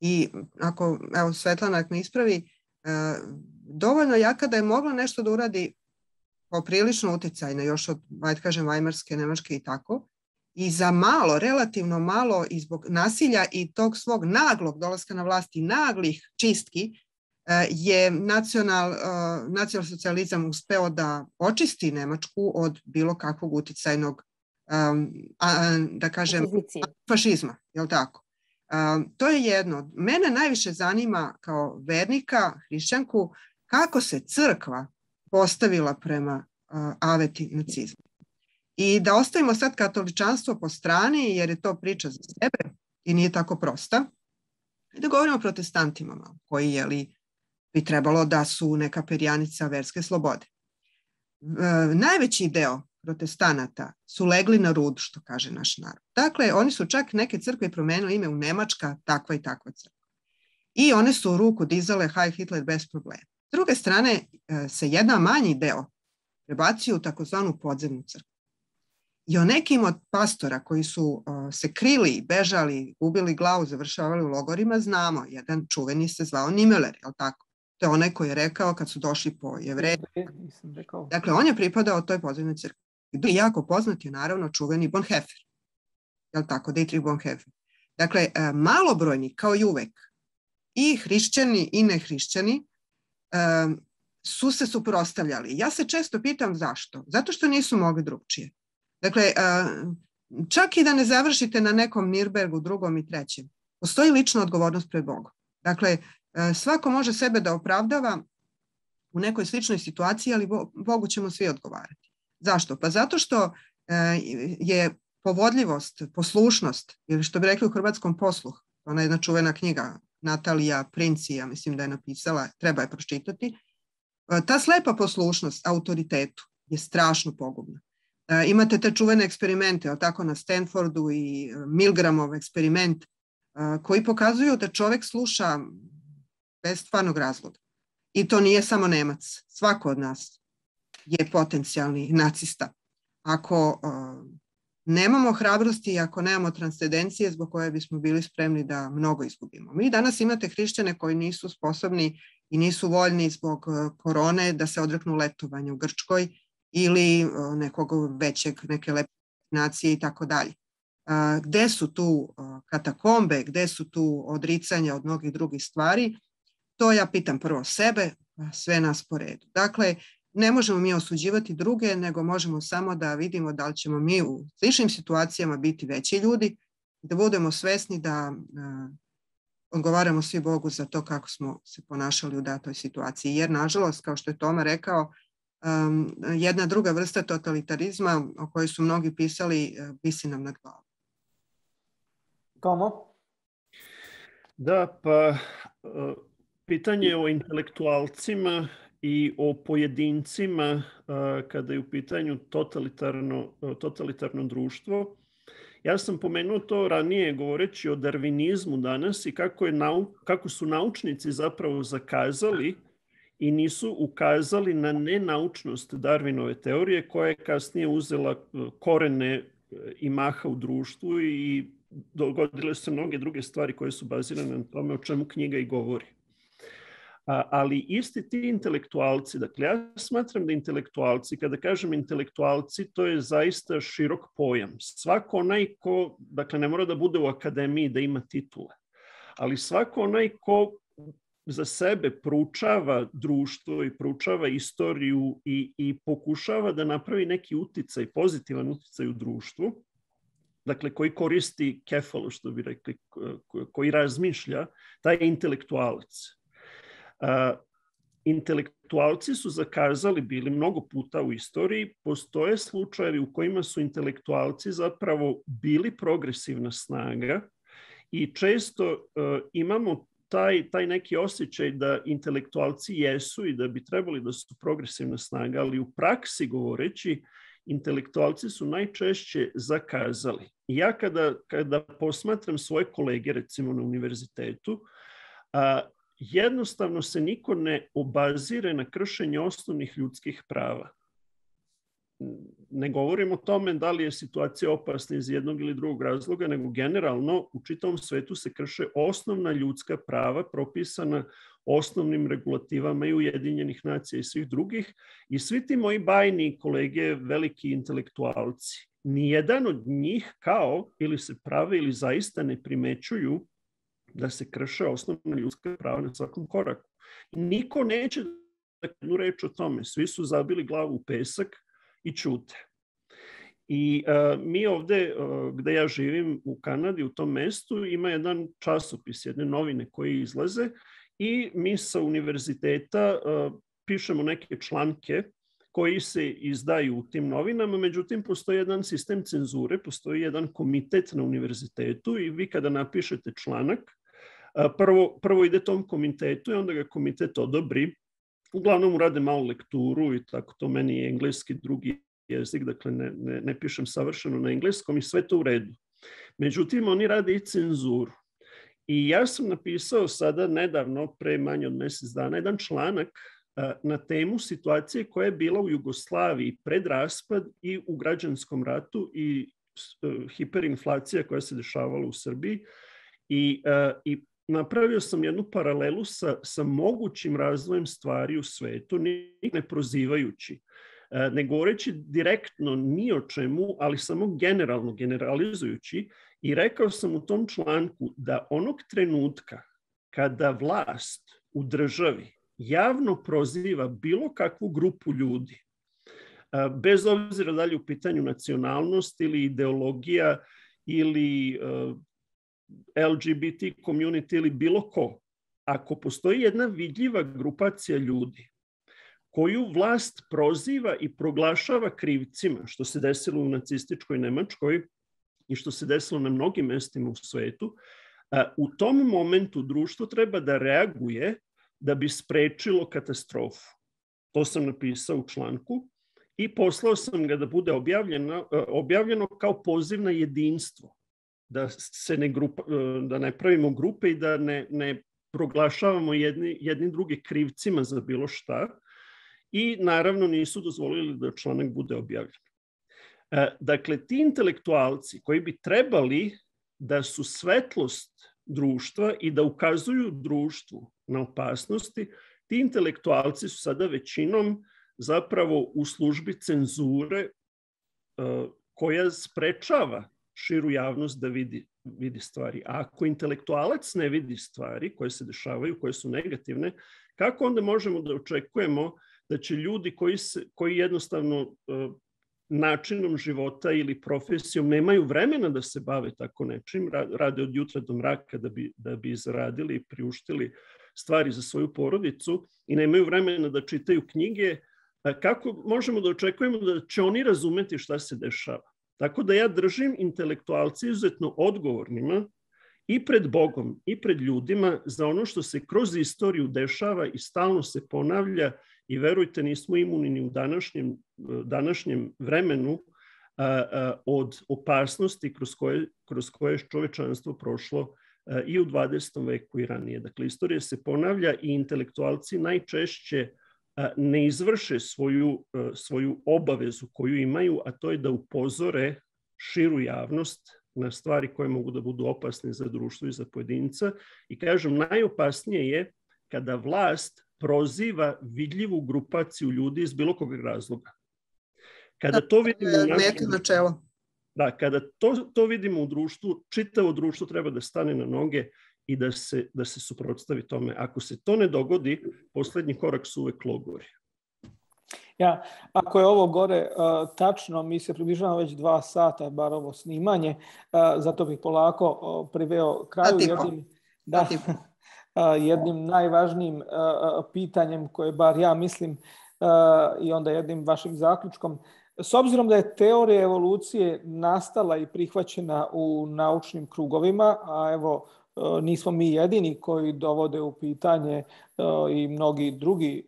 I ako, evo, Svetlana me ispravi, dovoljno jaka da je mogla nešto da uradi poprilično uticajno još od, ajde kažem, Vajmarske, Nemačke i tako. I za malo, relativno malo, i zbog nasilja i tog svog naglog dolaska na vlast i naglih čistki, je nacionalsocijalizam uspeo da očisti Nemačku od bilo kakvog uticajnog, da kažem, fašizma. Je li tako? To je jedno. Mene najviše zanima kao vernika, hrišćanku, kako se crkva postavila prema aveti nacizma. I da ostavimo sad katoličanstvo po strani, jer je to priča za sebe i nije tako prosta. Da govorimo o protestantima, koji bi trebalo da su neka perjanica verske slobode. Najveći deo protestanata su legli na rud, što kaže naš narod. Dakle, oni su čak neke crkve promenili ime u Nemačka, takva i takva crkva. I one su ruku dizale Heil Hitler bez problema. S druge strane, se jedan manji deo prebacio u takozvanu podzemnu crkvu. I o nekim od pastora koji su se krili, bežali, gubili glavu, završavali u logorima, znamo. Jedan čuveni se zvao Niemöller, je li tako? To je onaj koji je rekao kad su došli po Jevreje. Dakle, on je pripadao toj podzemnoj crkvi. I jako poznat je naravno čuveni Bonhoeffer. Je li tako? Dietrich Bonhoeffer. Dakle, malobrojni, kao i uvek, i hrišćani i nehrišćani, su se suprotstavljali. Ja se često pitam zašto. Zato što nisu mogli drugčije. Dakle, čak i da ne završite na nekom Nirnbergu, drugom i trećem, postoji lična odgovornost pred Bogom. Dakle, svako može sebe da opravdava u nekoj sličnoj situaciji, ali Bogu ćemo svi odgovarati. Zašto? Pa zato što je povodljivost, poslušnost, ili što bi rekli u hrvatskom posluh, ona je jedna čuvena knjiga, Natalija Princi, ja mislim da je napisala, treba je pročitati, ta slepa poslušnost autoritetu je strašno pogubna. Imate te čuvene eksperimente, tako na Stanfordu i Milgramov eksperiment, koji pokazuju da čovek sluša bez stvarnog razloga. I to nije samo Nemac. Svako od nas je potencijalni nacista. Ako nemamo hrabrosti i ako nemamo transcendencije zbog koje bismo bili spremni da mnogo izgubimo. Mi danas imate hrišćane koji nisu sposobni i nisu voljni zbog korone da se odreknu letovanja u Grčkoj ili neke lepe nacije i tako dalje. Gde su tu katakombe, gde su tu odricanja od mnogih drugih stvari, to ja pitam prvo sebe, sve nas po redu. Dakle, ne možemo mi osuđivati druge, nego možemo samo da vidimo da li ćemo mi u sličnim situacijama biti veći ljudi, da budemo svesni da odgovaramo svi Bogu za to kako smo se ponašali u datoj situaciji. Jer, nažalost, kao što je Toma rekao, jedna druga vrsta totalitarizma o kojoj su mnogi pisali visi nam nad glavom. Tomo? Da, pa pitanje o intelektualcima i o pojedincima kada je u pitanju totalitarno društvo. Ja sam pomenuo to ranije govoreći o darvinizmu danas i kako su naučnici zapravo zakazali i nisu ukazali na nenaučnost Darwinove teorije koja je kasnije uzela korene i maha u društvu i dogodile se mnoge druge stvari koje su bazirane na tome o čemu knjiga i govori. Ali isti ti intelektualci, dakle ja smatram da intelektualci, kada kažem intelektualci, to je zaista širok pojam. Svako onaj ko, dakle ne mora da bude u akademiji da ima titule, ali svako onaj ko za sebe proučava društvo i proučava istoriju i pokušava da napravi neki uticaj, pozitivan uticaj u društvu, dakle koji koristi kefalu, što bi rekli, koji razmišlja, taj je intelektualac. Intelektualci su zakazali, bili mnogo puta u istoriji, postoje slučajevi u kojima su intelektualci zapravo bili progresivna snaga i često imamo taj neki osjećaj da intelektualci jesu i da bi trebali da su progresivna snaga, ali u praksi govoreći, intelektualci su najčešće zakazali. I ja kada posmatram svoje kolege, recimo na univerzitetu, jednostavno se niko ne obazire na kršenje osnovnih ljudskih prava. Ne govorim o tome da li je situacija opasna iz jednog ili drugog razloga, nego generalno u čitavom svetu se krše osnovna ljudska prava propisana osnovnim regulativama i Ujedinjenih nacija i svih drugih. I svi ti moji bajni kolege, veliki intelektualci, nijedan od njih kao ili se prave ili zaista ne primećuju da se krše osnovna ljudska prava na svakom koraku. Niko neće da jednu reč o tome. Svi su zabili glavu u pesak i ćute. I mi ovde, gde ja živim u Kanadi, u tom mestu, ima jedan časopis, jedne novine koje izlaze i mi sa univerziteta pišemo neke članke koji se izdaju u tim novinama, međutim postoji jedan sistem cenzure, postoji jedan komitet na univerzitetu i vi kada napišete članak, Prvo ide tom komitetu i onda ga komitet odobri. Uglavnom urade malo lekturu i tako, to meni je engleski drugi jezik, dakle ne pišem savršeno na engleskom i sve to u redu. Međutim, oni rade i cenzuru. I ja sam napisao sada nedavno, pre manje od mjesec dana, jedan članak na temu situacije koja je bila u Jugoslaviji pred raspad i u građanskom ratu i hiperinflacija koja se dešavala u Srbiji. I napravio sam jednu paralelu sa mogućim razvojem stvari u svetu, ne prozivajući, ne govoreći direktno ni o čemu, ali samo generalizujući. I rekao sam u tom članku da onog trenutka kada vlast u državi javno proziva bilo kakvu grupu ljudi, bez obzira da li u pitanju nacionalnost ili ideologija ili LGBT community ili bilo ko, ako postoji jedna vidljiva grupacija ljudi koju vlast proziva i proglašava krivcima, što se desilo u nacističkoj Nemačkoj i što se desilo na mnogim mestima u svetu, u tom momentu društvo treba da reaguje da bi sprečilo katastrofu. To sam napisao u članku i poslao sam ga da bude objavljeno kao poziv na jedinstvo, da ne pravimo grupe i da ne proglašavamo jedni druge krivcima za bilo šta. I naravno nisu dozvolili da članak bude objavljen. Dakle, ti intelektualci koji bi trebali da su svetlost društva i da ukazuju društvu na opasnosti, ti intelektualci su sada većinom zapravo u službi cenzure koja sprečava širu javnost da vidi stvari. A ako intelektualac ne vidi stvari koje se dešavaju, koje su negativne, kako onda možemo da očekujemo da će ljudi koji jednostavno načinom života ili profesijom nemaju vremena da se bave tako nečim, rade od jutra do mraka da bi zaradili i priuštili stvari za svoju porodicu i nemaju vremena da čitaju knjige, kako možemo da očekujemo da će oni razumeti šta se dešava? Tako da ja držim intelektualci izuzetno odgovornima i pred Bogom i pred ljudima za ono što se kroz istoriju dešava i stalno se ponavlja i verujte, nismo imuni ni u današnjem vremenu od opasnosti kroz koje je čovečanstvo prošlo i u 20. veku i ranije. Dakle, istorija se ponavlja i intelektualci najčešće ne izvrše svoju obavezu koju imaju, a to je da upozore širu javnost na stvari koje mogu da budu opasne za društvo i za pojedinca. I kažem, najopasnije je kada vlast proziva vidljivu grupaciju ljudi iz bilo kog razloga. Kada to vidimo kada to vidimo u društvu, čitavo društvo treba da stane na noge i da se suprotstavi tome. Ako se to ne dogodi, posljednji korak su uvek logori. Ja, ako je ovo gore tačno, mi se približavamo već 2 sata, bar ovo snimanje, zato bih polako priveo kraju jednim najvažnijim pitanjem koje bar ja mislim i onda jednim vašim zaključkom. S obzirom da je teorija evolucije nastala i prihvaćena u naučnim krugovima, a evo nismo mi jedini koji dovode u pitanje i mnogi drugi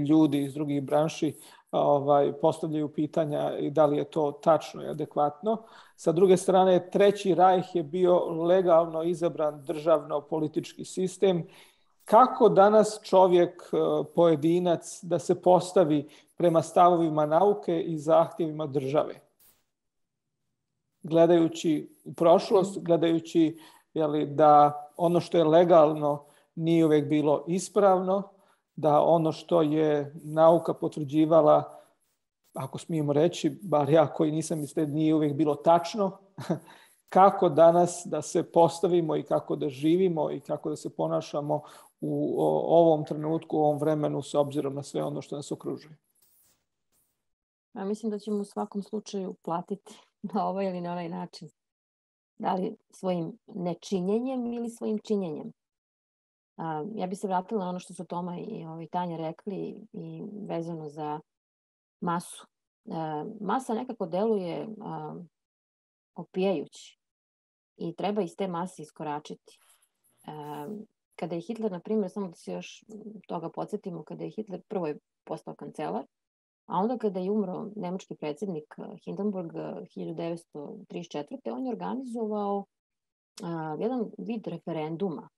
ljudi iz drugih branši postavljaju pitanja i da li je to tačno i adekvatno. Sa druge strane, Treći rajh je bio legalno izabran državno-politički sistem. Kako danas čovjek, pojedinac, da se postavi prema stavovima nauke i zahtjevima države? Gledajući u prošlost, gledajući da ono što je legalno nije uvijek bilo ispravno, da ono što je nauka potvrđivala, ako smijemo reći, bar ja koji nisam mislio, nije uvijek bilo tačno. Kako danas da se postavimo i kako da živimo i kako da se ponašamo u ovom trenutku, u ovom vremenu s obzirom na sve ono što nas okružuje? Ja mislim da ćemo u svakom slučaju platiti na ovaj ili na onaj način. Da li svojim nečinjenjem ili svojim činjenjem. Ja bi se vratila na ono što su Toma i Tanja rekli i vezano za masu. Masa nekako deluje opijajući i treba iz te mase iskoračiti. Kada je Hitler, na primjer, samo da se još toga podsjetimo, kada je Hitler prvo je postao kancelar, a onda kada je umro nemački predsjednik Hindenburg 1934. On je organizovao jedan vid referenduma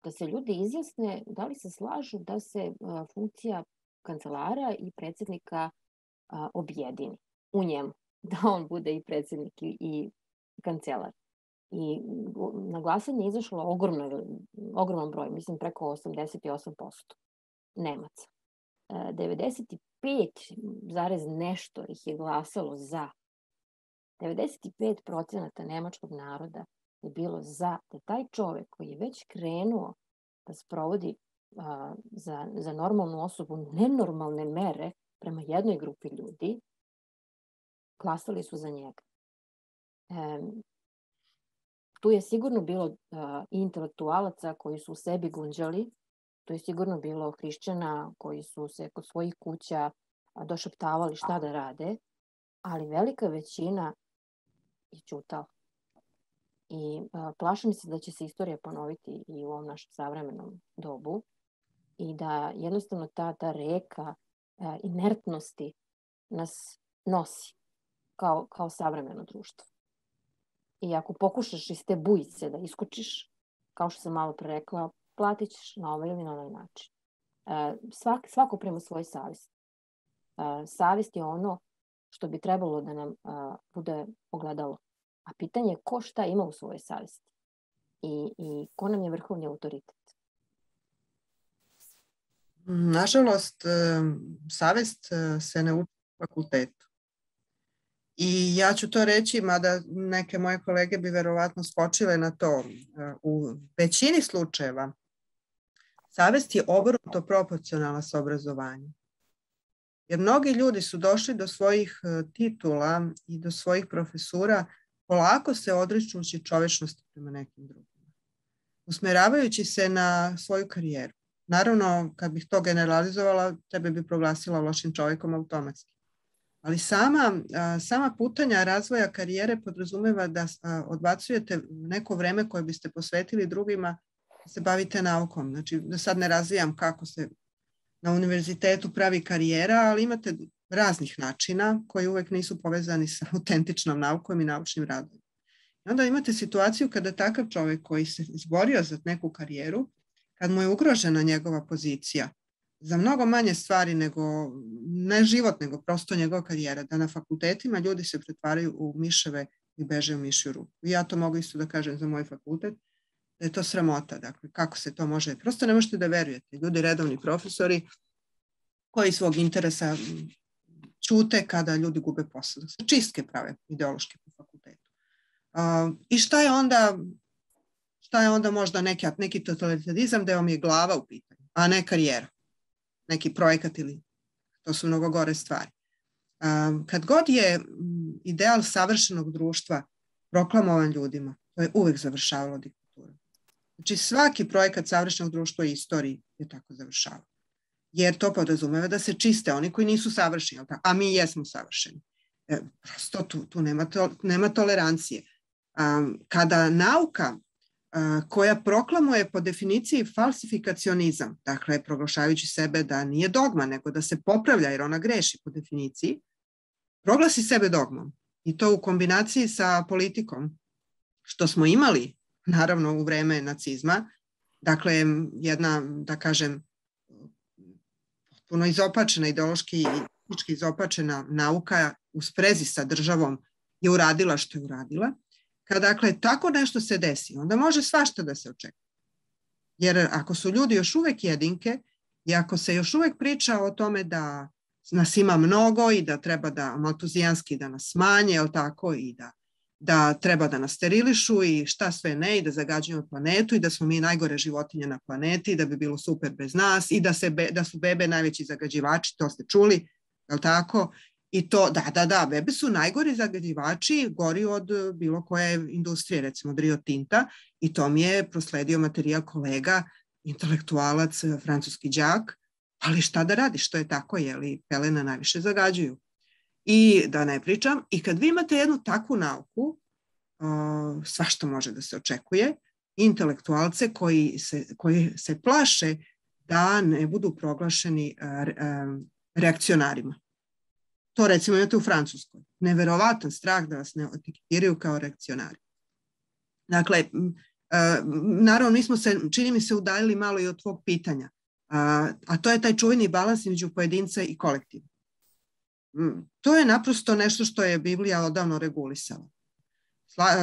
da se ljudi izjasne da li se slažu da se funkcija kancelara i predsjednika objedini u njemu, da on bude i predsjednik i kancelar. I na glasanje je izašlo ogroman broj, mislim preko 88% Nemaca. 95 zarez nešto ih je glasalo za. 95% nemačkog naroda je bilo za da taj čovjek koji je već krenuo da sprovodi za normalnu osobu nenormalne mere prema jednoj grupi ljudi, glasali su za njega. Tu je sigurno bilo i intelektualaca koji su u sebi gunđali, tu je sigurno bilo hrišćana koji su se kod svojih kuća došaptavali šta da rade, ali velika većina je ćutala. I plašim se da će se istorija ponoviti i u ovom našem savremenom dobu i da jednostavno ta reka inertnosti nas nosi kao savremeno društvo. I ako pokušaš iz te bujice da iskočiš, kao što sam malo pre rekla, platit ćeš na ovaj ili na onaj način. Svako prema svoj savjest. Savjest je ono što bi trebalo da nam bude ogledalo. A pitanje je ko šta ima u svojoj savjesti i ko nam je vrhovni autoritet. Nažalost, savjest se ne uči u fakultetu. I ja ću to reći, mada neke moje kolege bi verovatno skočile na to. U većini slučajeva savjest je obrnuto proporcionalna s obrazovanjem. Jer mnogi ljudi su došli do svojih titula i do svojih profesura polako se odričući čovječnosti prema nekim drugima, usmjeravajući se na svoju karijeru. Naravno, kad bih to generalizovala, tebe bi proglasila lošim čovjekom automatski. Ali sama putanja razvoja karijere podrazumeva da odbacujete neko vreme koje biste posvetili drugima, da se bavite naukom. Znači, da sad ne razvijam kako se na univerzitetu pravi karijera, ali imate raznih načina koji uvijek nisu povezani sa autentičnom naukom i naučnim radom. I onda imate situaciju kada takav čovjek koji se izborio za neku karijeru, kad mu je ugrožena njegova pozicija, za mnogo manje stvari nego, ne život, nego prosto njegova karijera, da na fakultetima ljudi se pretvaraju u miševe i beže u mišju ruku. I ja to mogu isto da kažem za moj fakultet, da je to sramota. Dakle, kako se to može? Prosto ne možete da verujete. Ljudi, redovni profesori, koji svog interesa ćute kada ljudi gube posao. Čistke prave ideološke po fakultetu. I šta je onda možda neki totalitarizam da vam je glava u pitanju, a ne karijera, neki projekat ili to su mnogo gore stvari. Kad god je ideal savršenog društva proklamovan ljudima, to je uvijek završavalo diktaturom. Znači svaki projekat savršenog društva i istoriji je tako završavao. Jer to podrazumeva da se čiste oni koji nisu savršeni, a mi jesmo savršeni. Prosto tu nema tolerancije. Kada nauka koja proklamuje po definiciji falsifikacionizam, dakle proglašavajući sebe da nije dogma, nego da se popravlja jer ona greši po definiciji, proglasi sebe dogmom. I to u kombinaciji sa politikom, što smo imali, naravno, u vreme nacizma. Dakle, jedna, da kažem, puno izopačena, ideološki i izopačena nauka u sprezi sa državom je uradila što je uradila. Kad dakle tako nešto se desi, onda može svašta da se očekuje. Jer ako su ljudi još uvijek jedinke i ako se još uvijek priča o tome da nas ima mnogo i da treba da maltuzijanski da nas smanje, jel tako, i da treba da nas sterilišu i šta sve ne, i da zagađujemo planetu i da smo mi najgore životinje na planeti i da bi bilo super bez nas i da su bebe najveći zagađivači, to ste čuli, jel tako? I to, da, bebe su najgori zagađivači, gori od bilo koje industrije, recimo od Rio Tinta, i to mi je prosledio materijal kolega, intelektualac, francuski đak, ali šta da radiš, to je tako, jeli pelena najviše zagađuju. I da ne pričam, i kad vi imate jednu takvu nauku, svašta može da se očekuje, intelektualce koji se plaše da ne budu proglašeni reakcionarima. To recimo imate u Francuskoj. Neverovatan strah da vas ne etiketiraju kao reakcionari. Dakle, naravno, mi smo se, čini mi se, udaljili malo i od tvog pitanja, a to je taj čuveni balans između pojedinca i kolektiva. To je naprosto nešto što je Biblija odavno regulisala.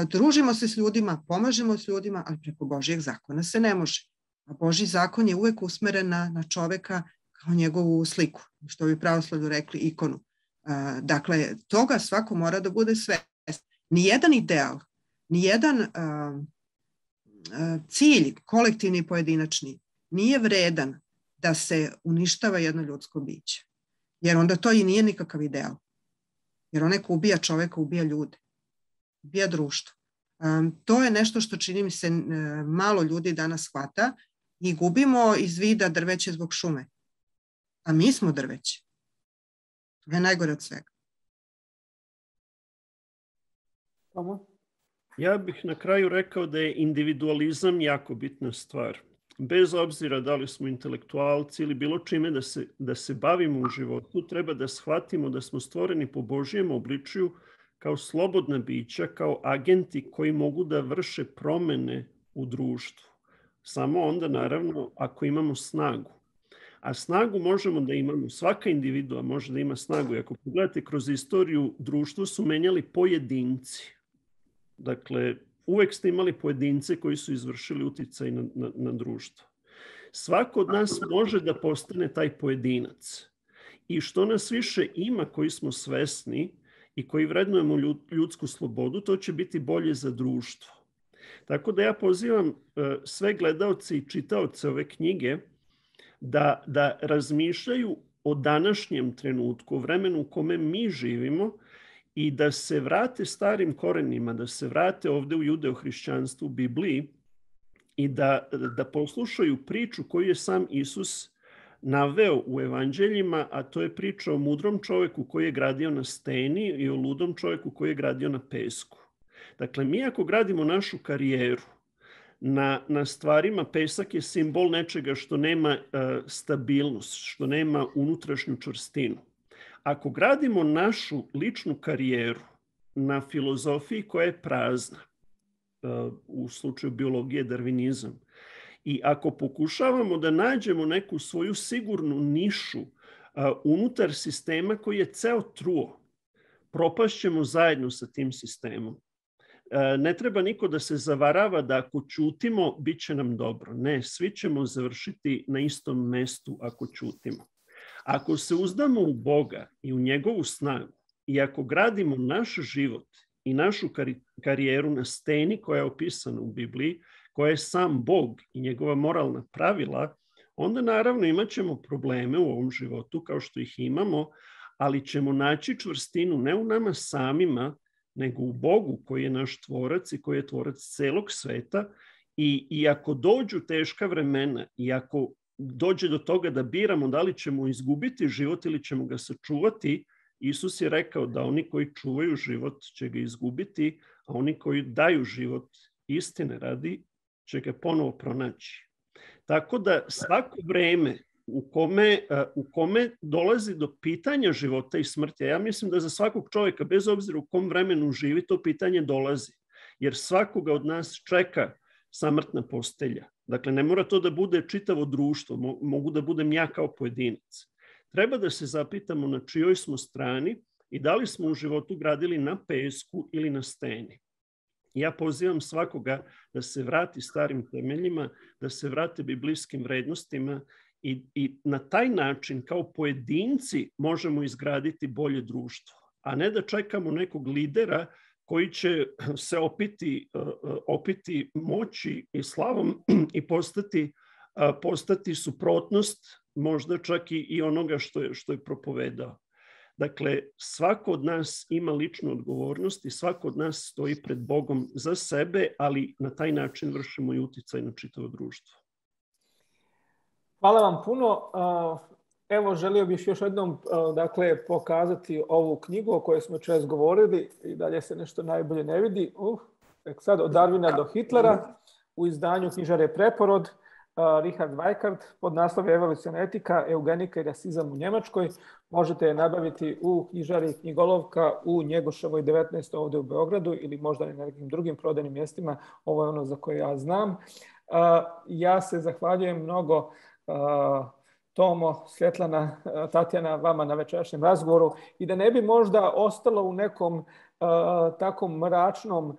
Družimo se s ljudima, pomažemo s ljudima, ali preko Božjeg zakona se ne može. A Božji zakon je uvek usmeren na čoveka kao njegovu sliku, što bi pravoslavlju rekli ikonu. Dakle, toga svako mora da bude svestan. Nijedan ideal, nijedan cilj, kolektivni i pojedinačni, nije vredan da se uništava jedno ljudsko biće. Jer onda to i nije nikakav ideal. Jer onaj ko ubija čoveka, ubija ljude. Ubija društvo. To je nešto što čini mi se malo ljudi danas shvata i gubimo iz vida drveće zbog šume. A mi smo drveće. To je najgore od svega. Ja bih na kraju rekao da je individualizam jako bitna stvar. Bez obzira da li smo intelektualci ili bilo čime da se bavimo u životu, treba da shvatimo da smo stvoreni po Božjem obličju kao slobodna bića, kao agenti koji mogu da vrše promene u društvu. Samo onda, naravno, ako imamo snagu. A snagu možemo da imamo, svaka individua može da ima snagu. I ako pogledate kroz istoriju, društvo su menjali pojedinci. Dakle, uvek ste imali pojedince koji su izvršili uticaj na društvo. Svako od nas može da postane taj pojedinac. I što nas više ima koji smo svesni i koji vrednujemo ljudsku slobodu, to će biti bolje za društvo. Tako da ja pozivam sve gledaoce i čitaoce ove knjige da razmišljaju o današnjem trenutku, o vremenu u kome mi živimo i da se vrate starim korenima, da se vrate ovde u judeo-hrišćanstvu, u Bibliji i da poslušaju priču koju je sam Isus naveo u evanđeljima, a to je priča o mudrom čoveku koji je gradio na steni i o ludom čoveku koji je gradio na pesku. Dakle, mi ako gradimo našu karijeru na stvarima, pesak je simbol nečega što nema stabilnost, što nema unutrašnju čvrstinu. Ako gradimo našu ličnu karijeru na filozofiji koja je prazna, u slučaju biologije darvinizam, i ako pokušavamo da nađemo neku svoju sigurnu nišu unutar sistema koji je ceo truo, propašćemo zajedno sa tim sistemom. Ne treba niko da se zavarava da ako ćutimo, bit će nam dobro. Ne, svi ćemo završiti na istom mestu ako ćutimo. Ako se uzdamo u Boga i u njegovu snagu i ako gradimo naš život i našu karijeru na steni koja je opisana u Bibliji, koja je sam Bog i njegova moralna pravila, onda naravno imat ćemo probleme u ovom životu kao što ih imamo, ali ćemo naći čvrstinu ne u nama samima, nego u Bogu koji je naš tvorac i koji je tvorac celog sveta. I ako dođu teška vremena i ako dođe do toga da biramo da li ćemo izgubiti život ili ćemo ga sačuvati, Isus je rekao da oni koji čuvaju život će ga izgubiti, a oni koji daju život istine radi će ga ponovo pronaći. Tako da svako vreme u kome dolazi do pitanja života i smrti, ja mislim da za svakog čovjeka, bez obzira u kom vremenu živi, to pitanje dolazi. Jer svakoga od nas čeka samrtna postelja. Dakle, ne mora to da bude čitavo društvo, mogu da budem ja kao pojedinac. Treba da se zapitamo na čijoj smo strani i da li smo u životu gradili na pesku ili na steni. Ja pozivam svakoga da se vrati starim temeljima, da se vrate biblijskim vrednostima i na taj način kao pojedinci možemo izgraditi bolje društvo, a ne da čekamo nekog lidera koji će se opiti moći i slavom i postati suprotnost možda čak i onoga što je propovedao. Dakle, svako od nas ima ličnu odgovornost i svako od nas stoji pred Bogom za sebe, ali na taj način vršimo i uticaj na čitavo društvo. Hvala vam puno. Evo, želio bih još jednom pokazati ovu knjigu o kojoj smo često govorili i dalje se nešto najbolje ne vidi. Sad od Darwina do Hitlera. u izdanju knjižare Preporod, Richard Weikart, pod naslovom Evoluciona etika, eugenika i rasizam u Njemačkoj. Možete je nabaviti u knjižari Knjigolovka u Njegoševoj 19. ovdje u Beogradu ili možda i na nekim drugim prodajnim mjestima. Ovo je ono za koje ja znam. Ja se zahvaljujem mnogo Tomo, Svjetlana, Tatjana, vama na večerašnjem razgovoru i da ne bi možda ostalo u nekom tako mračnom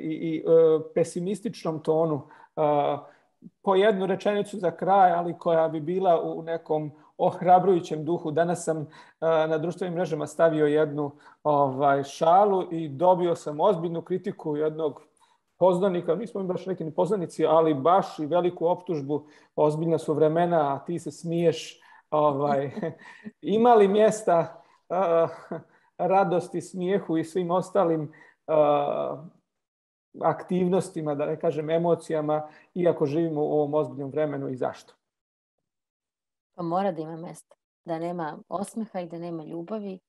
i pesimističnom tonu po jednu rečenicu za kraj, ali koja bi bila u nekom ohrabrujućem duhu. Danas sam na društvenim mrežama stavio jednu šalu i dobio sam ozbiljnu kritiku jednog poznanika, nismo mi baš neki ni poznanici, ali baš i veliku optužbu, ozbiljna su vremena, a ti se smiješ. Ima li mjesta radosti, smijehu i svim ostalim aktivnostima, da ne kažem emocijama, iako živimo u ovom ozbiljnom vremenu i zašto? Pa mora da ima mjesta. Da nema osmeha i da nema ljubavi,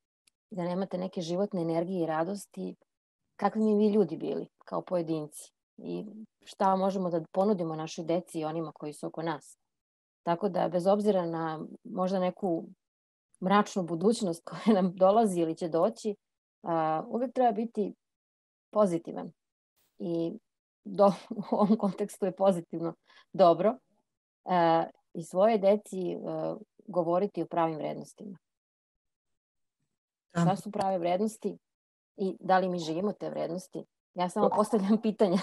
da nemate neke životne energije i radosti. Kakvi mi vi ljudi bili kao pojedinci i šta možemo da ponudimo našoj deci i onima koji su oko nas. Tako da bez obzira na možda neku mračnu budućnost koja nam dolazi ili će doći, uvijek treba biti pozitivan. I u ovom kontekstu je pozitivno dobro i svoje deci govoriti o pravim vrednostima. Šta su prave vrednosti i da li mi živimo te vrednosti? Ja samo postavljam pitanja.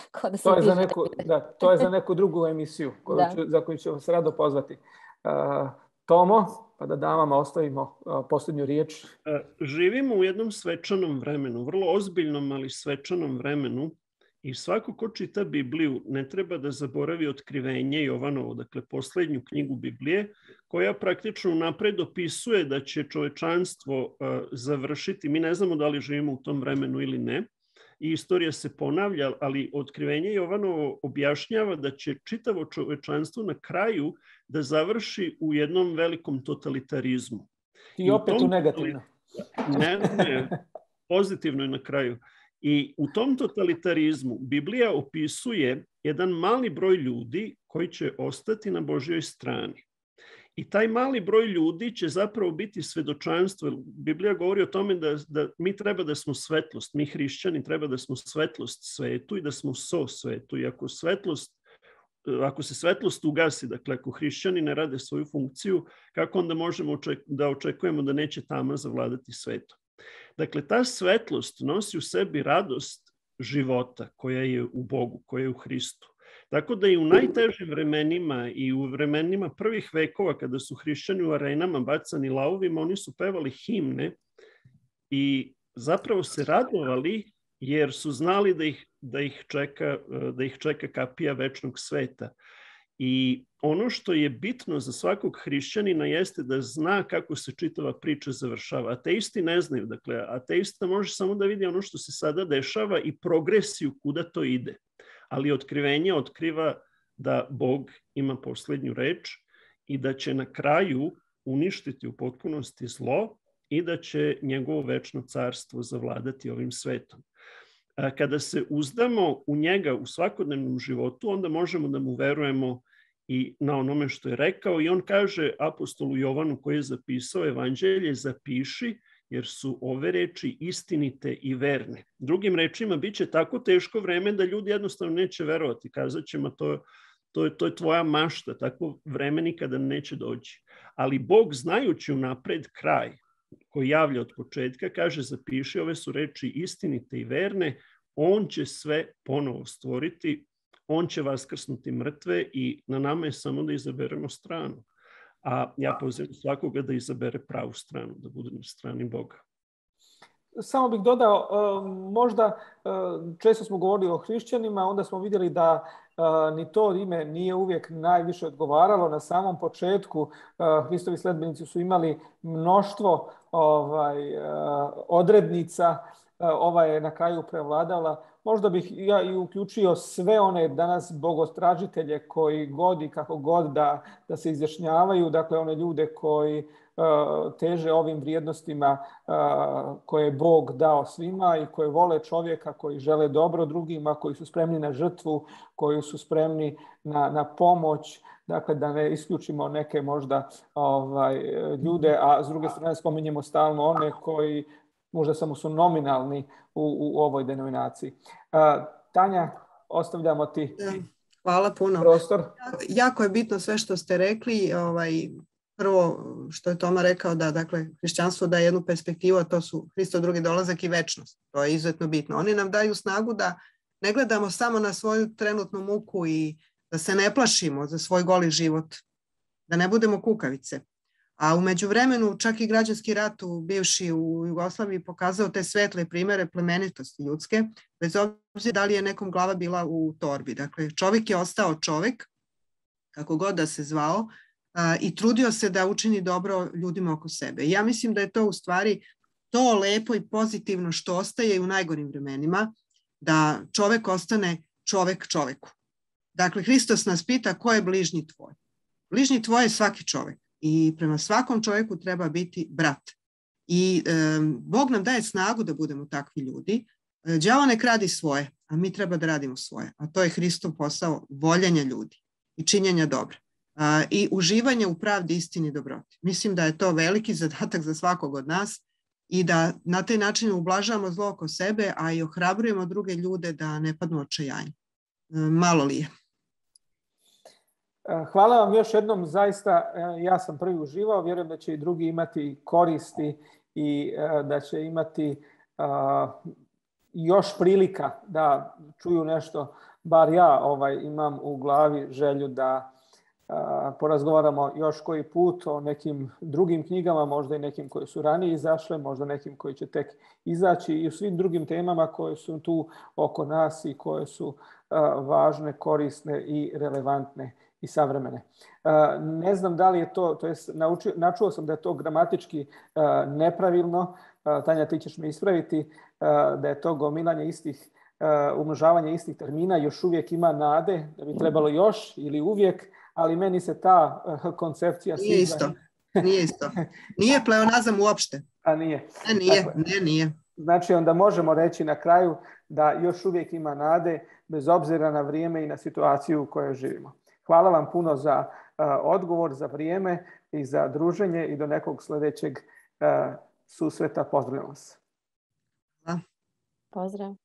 To je za neku drugu emisiju za koju ću vas rado pozvati. Tomo, pa da damama ostavimo posljednju riječ. Živimo u jednom svečanom vremenu, vrlo ozbiljnom, ali svečanom vremenu. I svako ko čita Bibliju ne treba da zaboravi Otkrivenje Jovanovo, dakle posljednju knjigu Biblije, koja praktično napred opisuje da će čovečanstvo završiti. Mi ne znamo da li živimo u tom vremenu ili ne. I istorija se ponavlja, ali Otkrivenje Jovanovo objašnjava da će čitavo čovečanstvo na kraju da završi u jednom velikom totalitarizmu. I opet u negativno. Ne, pozitivno je na kraju. I u tom totalitarizmu Biblija opisuje jedan mali broj ljudi koji će ostati na Božjoj strani. I taj mali broj ljudi će zapravo biti svedočanstvo. Biblija govori o tome da mi treba da smo svetlost. Mi hrišćani treba da smo svetlost svetu i da smo so svetu. I ako se svetlost ugasi, dakle ako hrišćani ne rade svoju funkciju, kako onda možemo da očekujemo da neće tama zavladati svetom? Dakle, ta svetlost nosi u sebi radost života koja je u Bogu, koja je u Hristu. Tako da i u najtežim vremenima i u vremenima prvih vekova kada su hrišćani u arenama bacani lavovima, oni su pevali himne i zapravo se radovali jer su znali da ih čeka kapija večnog sveta. I ono što je bitno za svakog hrišćanina jeste da zna kako se čitava priča završava. Ateisti ne znaju. Dakle, ateista može samo da vidi ono što se sada dešava i progresiju kuda to ide. Ali Otkrivenje otkriva da Bog ima posljednju reč i da će na kraju uništiti u potpunosti zlo i da će njegovo večno carstvo zavladati ovim svetom. Kada se uzdamo u njega u svakodnevnom životu, onda možemo da mu verujemo i na onome što je rekao. I on kaže apostolu Jovanu koji je zapisao evanđelje, zapiši jer su ove reči istinite i verne. Drugim rečima, bit će tako teško vreme da ljudi jednostavno neće verovati. Kazat ćemo to je tvoja mašta, tako vreme nikada neće doći. Ali Bog, znajući unapred kraj koji javlja od početka, kaže zapiši, ove su reči istinite i verne, on će sve ponovo stvoriti, on će vaskrsnuti mrtve i na nama je samo da izaberemo stranu. A ja pozivam svakoga da izabere pravu stranu, da bude na strani Boga. Samo bih dodao, možda često smo govorili o hrišćanima, onda smo vidjeli da ni to ime nije uvijek najviše odgovaralo. Na samom početku Hristovi sledbenici su imali mnoštvo odrednica, ova je na kraju prevladala. možda bih ja i uključio sve one danas bogostražitelje koji god i kako god da se izjašnjavaju, dakle one ljude koji teže ovim vrijednostima koje je Bog dao svima i koji vole čovjeka, koji žele dobro drugima, koji su spremni na žrtvu, koji su spremni na pomoć, dakle da ne isključimo neke možda ljude, a s druge strane spominjemo stalno one koji možda samo su nominalni u ovoj denominaciji. Tanja, ostavljamo ti Hvala puno. Prostor. Jako je bitno sve što ste rekli. Prvo što je Toma rekao da dakle, hrišćanstvo daje jednu perspektivu, a to su Hristov drugi dolazak i večnost. To je izuzetno bitno. Oni nam daju snagu da ne gledamo samo na svoju trenutnu muku i da se ne plašimo za svoj goli život, da ne budemo kukavice. A u međuvremenu čak i građanski rat bivši u Jugoslaviji pokazao te svetle primjere plemenitosti ljudske, bez obzira da li je nekom glava bila u torbi. Dakle, čovjek je ostao čovjek, kako god da se zvao, i trudio se da učini dobro ljudima oko sebe. Ja mislim da je to u stvari to lepo i pozitivno što ostaje i u najgorim vremenima, da čovjek ostane čovjek čovjeku. Dakle, Hristos nas pita ko je bližnji tvoj. Bližnji tvoj je svaki čovjek i prema svakom čovjeku treba biti brat. I Bog nam daje snagu da budemo takvi ljudi. Đavo nek radi svoje, a mi treba da radimo svoje. A to je Hristov posao voljenja ljudi i činjenja dobra. I uživanje u pravdi, istini i dobroti. Mislim da je to veliki zadatak za svakog od nas i da na taj način ublažavamo zlo oko sebe, a i ohrabrujemo druge ljude da ne padnu u očajanje. Malo li je? Hvala vam još jednom, zaista ja sam prvi uživao, vjerujem da će i drugi imati koristi i da će imati još prilika da čuju nešto, bar ja imam u glavi želju da porazgovaramo još koji put o nekim drugim knjigama, možda i nekim koje su ranije izašle, možda nekim koji će tek izaći i u svim drugim temama koje su tu oko nas i koje su važne, korisne i relevantne i savremene. Ne znam da li je to jest načuo sam da je to gramatički nepravilno, Tanja ti ćeš me ispraviti, da je to gomilanje istih, umnožavanje istih termina, još uvijek ima nade, da bi trebalo još ili uvijek, ali meni se ta koncepcija... Nije isto. Nije isto. Nije pleonazam uopšte. A nije? Nije. Znači onda možemo reći na kraju da još uvijek ima nade bez obzira na vrijeme i na situaciju u kojoj živimo. Hvala vam puno za odgovor, za vrijeme i za druženje i do nekog sljedećeg susreta. Pozdravljam vas. Pozdrav.